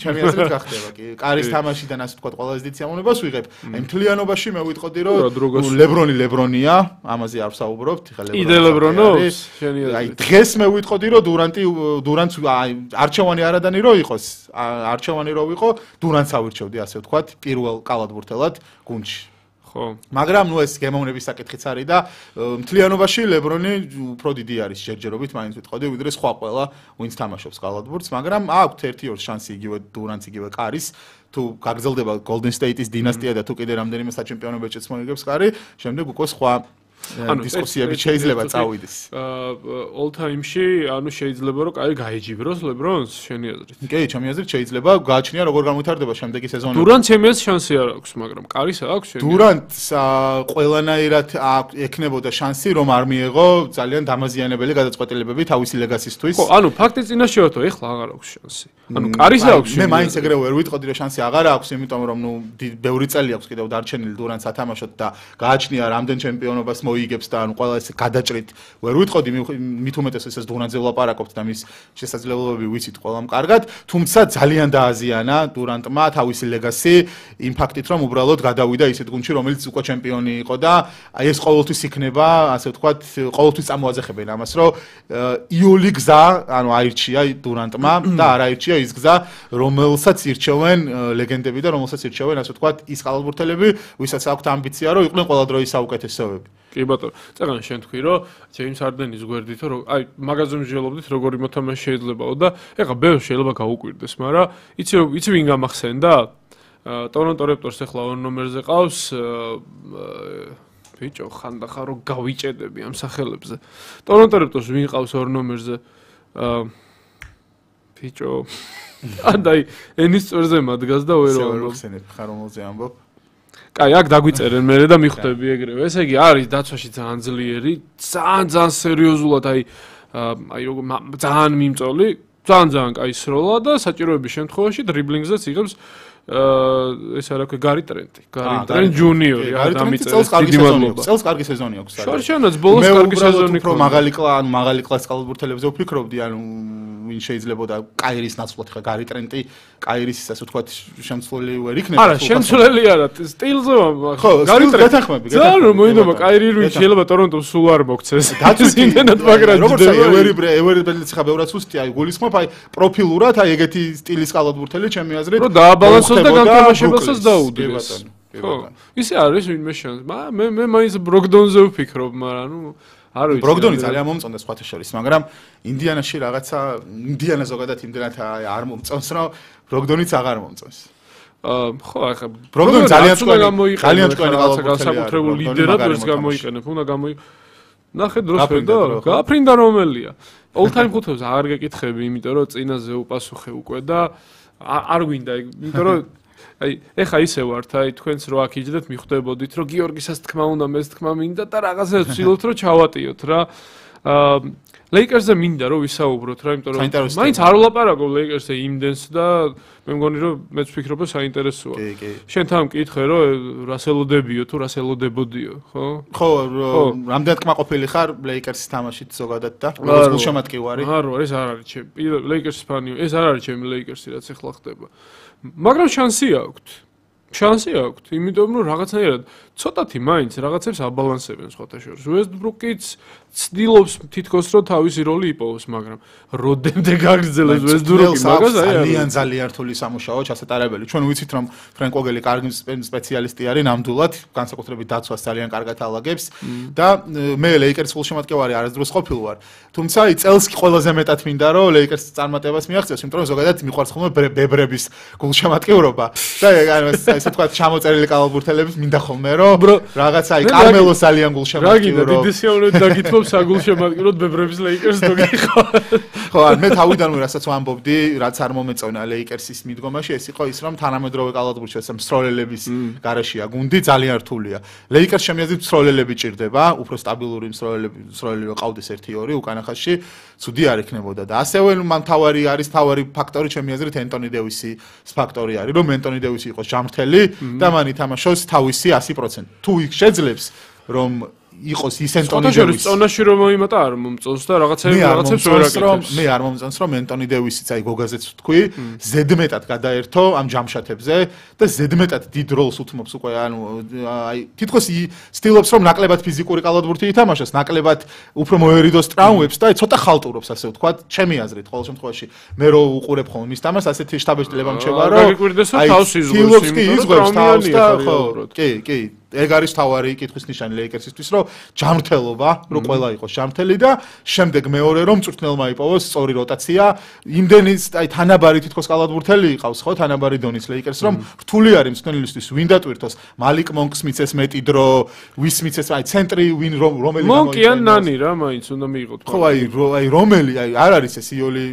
ჩემი აზრით გახდება კი. კარის თამაშიდან ასე ვთქვათ, ყველაზე დიდ სიამოვნებას ვიღებ. აი მთლიანობაში მე ვიტყოდი, რომ ლებრონი ლებრონია, ამაზე არ ვსაუბრობთ, ხა ლებრონი. იდე ლებრონობს, შენი აზრით. აი დღეს მე ვიტყოდი, რომ დურანტი დურანტს აი არჩევანი არადანი რო იყოს, არჩევანი რო ვიყო, დურანტს ავირჩევდი, ასე ვთქვათ, პირველ კალათბურთელად გუნდში. ხო. მაგრამ ნუ ეს გემოვნების საკითხიც არის და მთლიანობაში ლებრონი უფრო დიდი არის ჯერჯერობით, მაინც ვიტყოდი, ვიდრე სხვა ყველა, ვინც თამაშობს კალათბურთს, მაგრამ აქვთ ერთი ორ შანსი იგივე დურანტს იგივე კარის. თუ გაგრძელდება Golden State-ის დინასტია და თუ კიდე რამდენიმე საჩემპიონო ბეჭედს მოიგებს კარი, შემდეგ უკვე სხვა ანუ დისკუსიები შეიძლება წავიდეს. all time-ში, ანუ შეიძლება რომ კაი გაეჯიბროს ლებრონს, შენი აზრით? კი, ჩემი აზრით შეიძლება, გააჩნია როგორ განვითარდება შემდეგი სეზონი. დურანტს ჩემი აზრით შანსი არ აქვს, მაგრამ კარის აქვს შენი. დურანტს ყველანაირად ექნებოდა შანსი, რომ არ მიეღო ძალიან დამაზიანებელი გადაწყვეტილებები თავისი ლეგასისთვის. ხო, ანუ ფაქტი წინაშე ვართ, ეხლა აღარ აქვს შანსი. ანუ კარის აქვს. მე მაინც ეგრე ვერ ვიტყოდი, რომ შანსი აღარ აქვს, იმიტომ რომ ნუ ბევრი წელი აქვს კიდევ დარჩენილი დურანტს ათამაშოთ და გააჩნია რამდენ ჩემპიონობას მოიგებს და ანუ ყველა ეს გადაჭრით ვერ ვიტყოდი, მით უმეტეს ესეც დურანტზე ვლაპარაკობთ და მის შესაძლებლობები ვიცით ყველამ კარგად, თუმცა ძალიან დააზიანა დურანტმა თავისი ლეგასი იმ ფაქტით, რომ უბრალოდ გადავიდა ისეთ გუნდში, რომელიც უკვე ჩემპიონი იყო და აი ეს ყოველთვის იქნება, ასე ვთქვათ, ყოველთვის წამოაძახებენ ამას, რომ იული გზა, ანუ აირჩია დურანტმა და არ აირჩია ის გზა, რომელსაც ირჩევენ ლეგენდები და რომელსაც ირჩევენ, ასე ვთქვათ, ის კალათბურთელები, ვისაც აქვთ ამბიცია, რომ იყვნენ ყველა დროის საუკეთესოები. კი ბატონო, წეგან შენ თქვი, რომ ჯეიმს ჰარდენის გვერდით, რომ აი მაგაზე მსჯელობდით, როგორი მოთამაშე შეიძლებაო და ეხლა ბევრს შეიძლება გაუკვირდეს, მაგრამ იცი იცი ვინ გამახსენდა? ტორონტო რეპტორს ეხლა ორ ნომერზე ყავს ბიჭო, ხანდახან რომ გავიჭედები ამ სახელებზე. ტორონტო რეპტორს ვინ ყავს ორ ნომერზე? ბიჭო, ანდაი ენის წვერზე მადგას და ვერ ვამბობ. შევხსენებ ხარ რომელზე ამბობ? კაი, აქ დაგვიწერენ მე და მიხვდები ეგრევე. ესე იგი, არის დაცვაში ძალიან ძლიერი, ძალიან ძალიან სერიოზულად, აი აი როგორ ძალიან მიმწოლი, ძალიან ძალიან კაი სროლა და საჭიროების შემთხვევაში დრიბლინგზეც იღებს ეს არა ქვია გარი ტრენტი. გარი ტრენტ ჯუნიორი, რა დამიწერეს. დიდი მადლობა. წელს კარგი სეზონი აქვს. შორშანაც ბოლოს კარგი სეზონი იყო. მაგალი კლა, ანუ მაგალი კლას კალათბურთელებზე ვფიქრობდი, ანუ ვინ შეიძლება და კაირის ნაცვლად ხა გარი ტრენტი, კაირის ასე ვთქვათ, შემცვლელი ვერ იქნება. არა, შემცვლელი არა, სტილზე ხო, გარი ტრენტი გეთანხმები, გეთანხმები. ძალიან მოინდომა კაირი რუი შეიძლება ტორონტომ სულ არ მოქცეს. დაცვით მაგრამ როგორც ევერი ევერი ბედლიც ხა ბევრად სუსტია, აი გულისხმობ, აი პროფილურად, აი ეგეთი სტილის კალათბურთელი ჩემი აზრით. რომ დააბალანსოს და განთამაშებასაც დაუდგეს. ხო, ისე არის ვინმე შანსი. მე მე მაინც ბროგდონზე ვფიქრობ, მაგრამ ნუ არ ვიცი. ბროგდონი ძალიან მომწონდა სხვათა შორის, მაგრამ ინდიანაში რაღაცა ინდიანა ზოგადად იმდენად არ მომწონს, რომ ბროგდონიც აღარ მომწონს. აა ხო, ახლა ბროგდონი ძალიან წვენი ძალიან წვენი კალათბურთელია. განსაკუთრებულ ლიდერად ვერც გამოიყენებ, უნდა გამოი ნახე დროს ვედა, გაფრინდა რომელია. all time ხუთეულს აღარ გეკითხები, იმიტომ რომ წინაზე უპასუხე უკვე და არ გვინდა, იმიტომ რომ აი ეხა ისე ვართ, აი თქვენც რო აქ იჯდეთ, მიხვდებოდით, რომ გიორგისაც თქმა უნდა, მეც თქმა მინდა და რაღაცას ვცდილობთ, რომ ჩავატიოთ რა. აა ლეიკერსზე მინდა რომ ვისაუბროთ რა, იმიტომ რომ მაინც არ ვლაპარაკობ ლეიკერსზე იმდენს და მე მგონი რომ მეც ვფიქრობ რომ საინტერესოა. კი, კი. შენ თან მკითხე რომ რასელო დებიო თუ რასელო დებოდიო, ხო? ხო, რამდენად კმაყოფილი ხარ ლეიკერსის თამაშით ზოგადად და როგორც გულშემატკივარი? არ ვარ, ეს არ არის ჩემი ლეიკერსის ფანი, ეს არ არის ჩემი ლეიკერსი რაც ახლა ხდება. მაგრამ შანსი აქვს. შანსი აქვს, იმიტომ რომ რაღაცნაირად ცოტათი მაინც რაღაცებს აბალანსებენ სხვათა შორის. Westbrook-იც ცდილობს თითქოს რომ თავისი როლი იპოვოს, მაგრამ როდემდე გაგრძელებს Westbrook-ი მაგას აი ძალიან ძალიან რთული სამუშაოა ჩასატარებელი. ჩვენ ვიცით რომ ფრენკ ვოგელი კარგი სპეციალისტი არის ნამდვილად, განსაკუთრებით დაცვას ძალიან კარგად ალაგებს და მე ლეიკერს გულშემატკივარი არასდროს ყოფილ ვარ. თუმცა აი წელს ყველაზე მეტად მინდა რომ ლეიკერს წარმატებას მიაღწიოს, იმიტომ რომ ზოგადად მიყვარს ხოლმე ბებრების გულშემატკივრობა და ანუ ესე თქვა ჩამოწერილი კალათბურთელების მინდა ხოლმე რომ რაღაცა აი კარმელოს ძალიან გულშემატკივრო. რა გინდა დიდი სიამოვნებით დაგითმობს საგულშემატკივროდ ბებრების ლეიკერს თუ გიხო. ხო, მე თავიდანვე რასაც ვამბობდი, რაც არ მომეწონა ლეიკერსის მიდგომაში, ეს იყო ის რომ თანამედროვე კალათბურთში ეს მსროლელების გარეშეა გუნდი ძალიან რთულია. ლეიკერს შემიძლია მსროლელები ჭირდება, უფრო სტაბილური მსროლელები, მსროლელი რო ყავდეს ერთი ორი უკანა ხაზში, ცუდი არ იქნებოდა და ასევე მან თავარი არის თავარი ფაქტორი ჩემი აზრით ენტონი დევისის ფაქტორი არის, რომ ენტონი დევისი იყოს ჯამრთელი და მან ითამაშოს თავისი ასი პროცენტი. თუ იქ შეძლებს რომ იყოს ის ენტონი დევისი. წონაში რომ მოიმატა არ მომწონს და რაღაცები რაღაცებს ვერ აკეთებს. მე არ მომწონს რომ ენტონი დევისიც აი გოგაზეც ვთქვი, ზედმეტად გადაერთო ამ ჯამშათებზე და ზედმეტად დიდ როლს უთმობს უკვე ანუ აი თითქოს ცდილობს რომ ნაკლებად ფიზიკური კალათბურთი ითამაშოს, ნაკლებად უფრო მოერიდოს ტრავმებს და აი ცოტა ხალტურობს ასე ვთქვათ, ჩემი აზრით ყოველ შემთხვევაში მე რო უყურებ ხოლმე მის თამაშს ასეთი შტაბ-შტილება მრჩება რომ აი თავს იზღვის, იზღვის თავს და ხო კი კი ეგ არის თავარი კითხვის ნიშანი ლეიკერსისთვის რომ ჯამრთელობა რომ ყველა იყოს ჯამრთელი და შემდეგ მეორე რომ მწვრთნელმა იპოვოს სწორი როტაცია იმდენის აი თანაბარი თითქოს კალათბურთელი იყავს ხო თანაბარი დონის ლეიკერს რომ რთული არის მწვრთნელისთვის ვინ დატვირთოს მალიკ მონკს მიცეს მეტი დრო ვის მიცეს აი ცენტრი ვინ რომელი მონკი ან ნანი რა მაინც უნდა მიიღოთ ხო აი აი რომელი აი არ არის ეს იოლი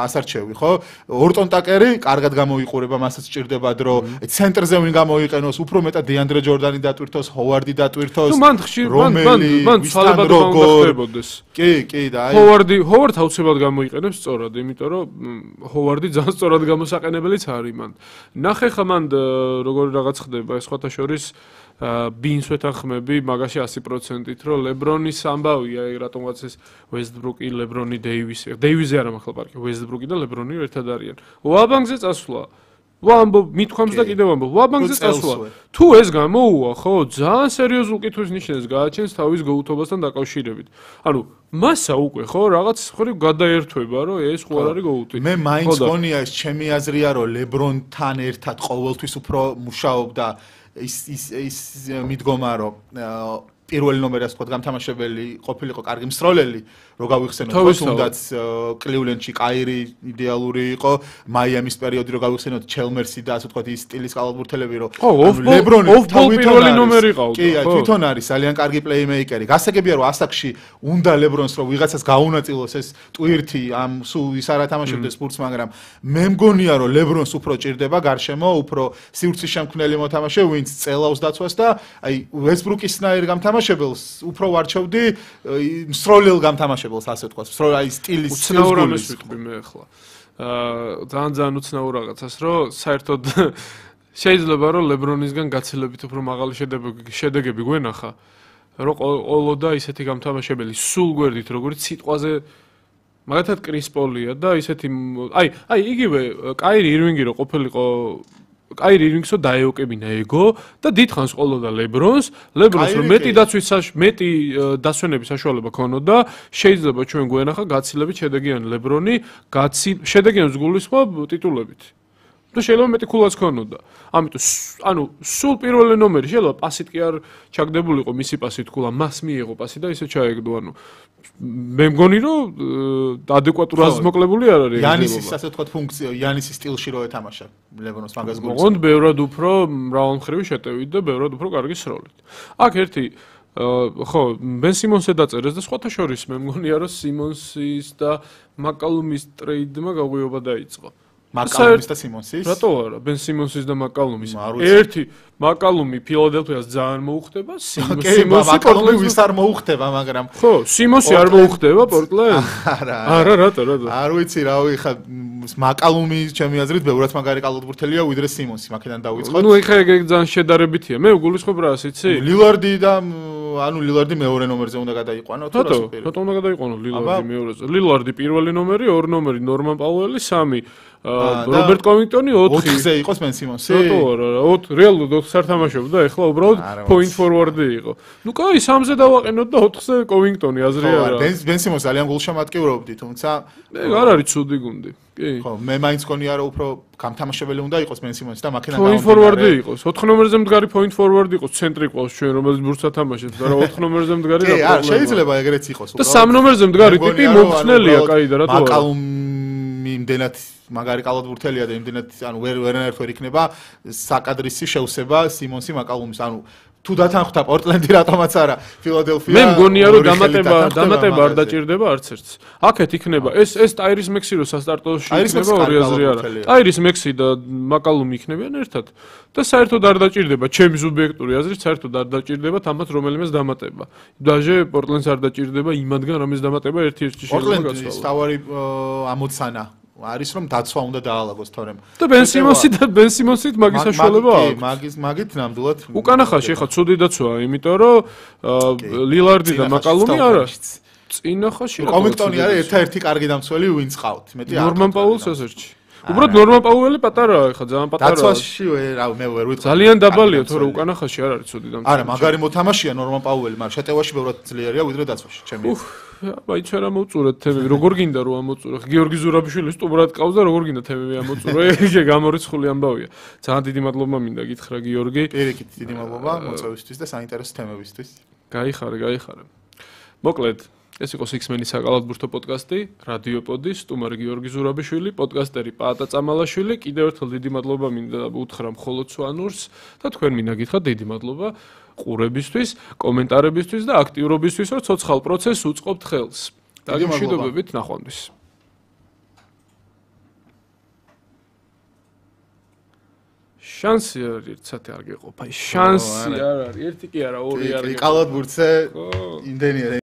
ასარჩევი ხო ორტონ ტაკერი კარგად გამოიყურება მასაც ჭირდება დრო ცენტრზე ვინ გამოიყენოს უფრო მეტად დეანდრე ჯორდანი დატვირთოს ჰოვარდი დატვირთოს ნუ მან ხშირ მან მან ცვალებად უნდა ხდებოდეს კი კი და აი ჰოვარდი ჰოვარდ აუცილებლად გამოიყენებს სწორად იმიტომ რომ ჰოვარდი ძალიან სწორად გამოსაყენებელიც არის მან ნახე ხა მან როგორი რაღაც ხდება ეს სხვათა შორის ბინს ვეთანხმები მაგაში ასი პროცენტით რომ ლებრონის ამბავია აი რატომღაც ეს ვესტბრუკი ლებრონი დეივისი დეივიზი არა მართლა პარკი ვესტბრუკი და ლებრონი ერთად არიან ვაბანგზე წასვლა ვამბობ მithქვამს და კიდევ ვამბობ ვაბანგზე წასვლა თუ ეს გამოუვა ხო ძალიან სერიოზულ კითხვის ნიშნებს გააჩენს თავის გოუთობასთან დაკავშირებით ანუ მასა უკვე ხო რაღაც ხრივ გადაერთვება რომ ეს ხო არ არის გოუთი მე მაინც გონია ეს ჩემი აზრია რომ ლებრონთან ერთად ყოველთვის უფრო მუშაობდა ის ის ის მიდგომა რომ პირველი ნომერი ასე ვთქვათ გამთამაშებელი ყოფილიყო კარგი მსროლელი რო გავიხსენოთ თუნდაც კლივლენდში კაირი იდეალური იყო მაიამის პერიოდი რო გავიხსენოთ ჩელმერსი და ასე ვთქვათ ის სტილის კალათბურთელები რო ლებრონი პირველი ნომერი ყავდა კი აი თვითონ არის ძალიან კარგი პლეიმეიკერი გასაგებია რომ ასაკში უნდა ლებრონს რომ ვიღაცას გაუნაწილოს ეს ტვირთი ამ სულ ის არა თამაშობდეს სპორტს მაგრამ მე მგონია რომ ლებრონს უფრო ჭირდება გარშემო უფრო სივრცის შემქმნელი მოთამაშე ვინც წელავს დაცვას და აი ვესტბრუკისნაირ გამთამაშებელს უფრო ვარჩევდი მსროლელ გამთამაშებელს ასე ვთქვათ, სწორედ აი სტილის უცნაურობას ვიტყვი მე ახლა. აა ძალიან ძალიან უცნაურ რაღაცას, რომ საერთოდ შეიძლება რომ ლებრონისგან გაცილებით უფრო მაღალი შედეგები გვენახა, რომ ყოლოდა ისეთი გამთამაშებელი სულ გვერდით, როგორც სიტყვაზე მაგათად კრის პოლია და ისეთი აი აი იგივე კაირი ირვინგი რო ყოფილიყო კაირი ირვინგსო დაეოკებინა ეგო და დიდხანს ყოლოდა ლებრონს, ლებრონს რომ მეტი დაცვის მეტი დასვენების საშუალება ქონოდა, შეიძლება ჩვენ გვენახა გაცილებით შედეგიანი ლებრონი, გაცი შედეგიანს გულისხმობ ტიტულებით. და შეიძლება მეტი ქულაც ქონოდა. ამიტომ ანუ სულ პირველი ნომერი შეიძლება პასით კი არ ჩაგდებულიყო მისი პასით ქულა, მას მიიღო პასი და ისე ჩაეგდო, ანუ მე მგონი რომ ადეკვატურად მოკლებული არ არის იანისის ასე ვთქვათ ფუნქცია იანისის სტილში რო ეთამაშა ლებრონს მაგას გულს მოყონდ ბევრად უფრო მრავალმხრივი შეტევით და ბევრად უფრო კარგი სროლით აქ ერთი ხო ბენ სიმონსე დაწერეს და სხვათა შორის მე მგონია რომ სიმონსის და მაკალუმის ტრეიდმა გაღვიობა დაიწყო მაკალუმის და სიმონსის რატო არა ბენ სიმონსის და მაკალუმის ერთი მაკალუმი ფილადელფიას ძალიან მოუხდება სიმონსი მაკალუმი ვის არ მოუხდება მაგრამ ხო სიმონსი არ მოუხდება პორტლენდ არა არა რატო რატო არ ვიცი რავი ხა მაკალუმი ჩემი აზრით ბევრად მაგარი კალათბურთელია ვიდრე სიმონსი მაქედან დავიწყოთ ნუ ეხა ეგ ძალიან შედარებითია მე გულისხმობ რას იცი ლილარდი და ანუ ლილარდი მეორე ნომერზე უნდა გადაიყვანო თუ რას უპირობ რატომ უნდა გადაიყვანო ლილარდი მეორეზე ლილარდი პირველი ნომერი ორი ნომერი ნორმან პაუელი სამი რობერტ კოვინგტონი ოთხი ოთხზე იყოს ბენ სიმონსი რატო არა ოთხ რეალურად ოთხს არ თამაშობდა ეხლა უბრალოდ პოინტ ფორვარდი იყო ნუ კაი სამზე დავაყენოთ და ოთხზე კოვინგტონი აზრი არა ბენ სიმონსი ძალიან გულშემატკივრობდი თუმცა ეგ არ არის ცუდი გუნდი კი ხო მე მაინც გონია რომ უფრო გამთამაშებელი უნდა იყოს ბენ სიმონსი და მაქედან პოინტ ფორვარდი იყოს ოთხ ნომერზე მდგარი პოინტ ფორვარდი იყოს ცენტრი ყავს ჩვენ რომელიც ბურთს ათამაშებს და რა ოთხ ნომერზე მდგარი რა პრობლემაა კი შეიძლება ეგრეც იყოს და სამ ნომერზე მდგარი ტიპი მომხსნელია კაი და რატო არა მაკალუმი იმდენად მაგარი კალათბურთელია და იმდენად ანუ ვერ ვერანაირად ვერ იქნება საკადრისი შევსება სიმონსი მაკალუმის ანუ თუ დათანხმდა პორტლენდი რატომაც არა ფილადელფია მე მგონია რომ დამატება დამატება არ დაჭირდება არც ერთს აქეთ იქნება ეს ეს ტაირის მექსი რო სასტარტოში იქნება ორი აზრი არა ტაირის მექსი და მაკალუმი იქნებიან ერთად და საერთოდ არ დაჭირდება ჩემი სუბიექტური აზრით საერთოდ არ დაჭირდება თამაც რომელიმეს დამატება დაჟე პორტლენდს არ დაჭირდება იმადგან რომის დამატება ერთ-ერთი შეიძლება გაცვალოს პორტლენდის თავარი ამოცანა არის რომ დაცვა უნდა დაალაგოს თორემ და ბენ სიმონსი და ბენ სიმონსით მაგის საშუალება აქვს მაგის მაგით ნამდვილად უკანახაში ხა ცუდი დაცვაა იმიტომ რომ ლილარდი და მაკალუმი არა წინახაში რა კომექტონი არის ერთ-ერთი კარგი დამცველი ვინც ყავთ მეტი არ ნორმან პაულს ასერჩი უბრალოდ ნორმან პაუელი პატარაა ხა ძალიან პატარაა დაცვაში რა მე ვერ ვიტყვი ძალიან დაბალია თორე უკანახაში არ არის ცუდი დამცველი არა მაგარი მოთამაშეა ნორმან პაუელი მაგრამ შეტევაში ბევრად ძლიერია ვიდრე დაცვაში ჩემი აი ჩვენ ამოწურეთ თემები როგორ გინდა რომ ამოწურო გიორგი ზურაბიშვილი სტუმრად ყავს და როგორ გინდა თემები ამოწურო ეგ გამორიცხული ამბავია ძალიან დიდი მადლობა მინდა გითხრა გიორგი პირიქით დიდი მადლობა მოწვევისთვის და საინტერესო თემებისთვის გაიხარე გაიხარე მოკლედ ეს იყო Six-Men-ის საკალათბურთო პოდკასტი, რადიოპოდი, სტუმარი გიორგი ზურაბიშვილი, პოდკასტერი პაატა წამალაშვილი. კიდევ ერთხელ დიდი მადლობა მინდა უთხრა მხოლოდ სვანურს და თქვენ მინდა გითხრათ დიდი მადლობა ყურებისთვის, კომენტარებისთვის და აქტიურობისთვის, რომ ცოცხალ პროცესს უწყობთ ხელს. დაგემშვიდობებით ნახვამდის. შანსი არის ერთ საათი არ გეყოფა. შანსი არ არის, ერთი კი არა, ორი არ გეყოფა. კალათბურთზე იმდენია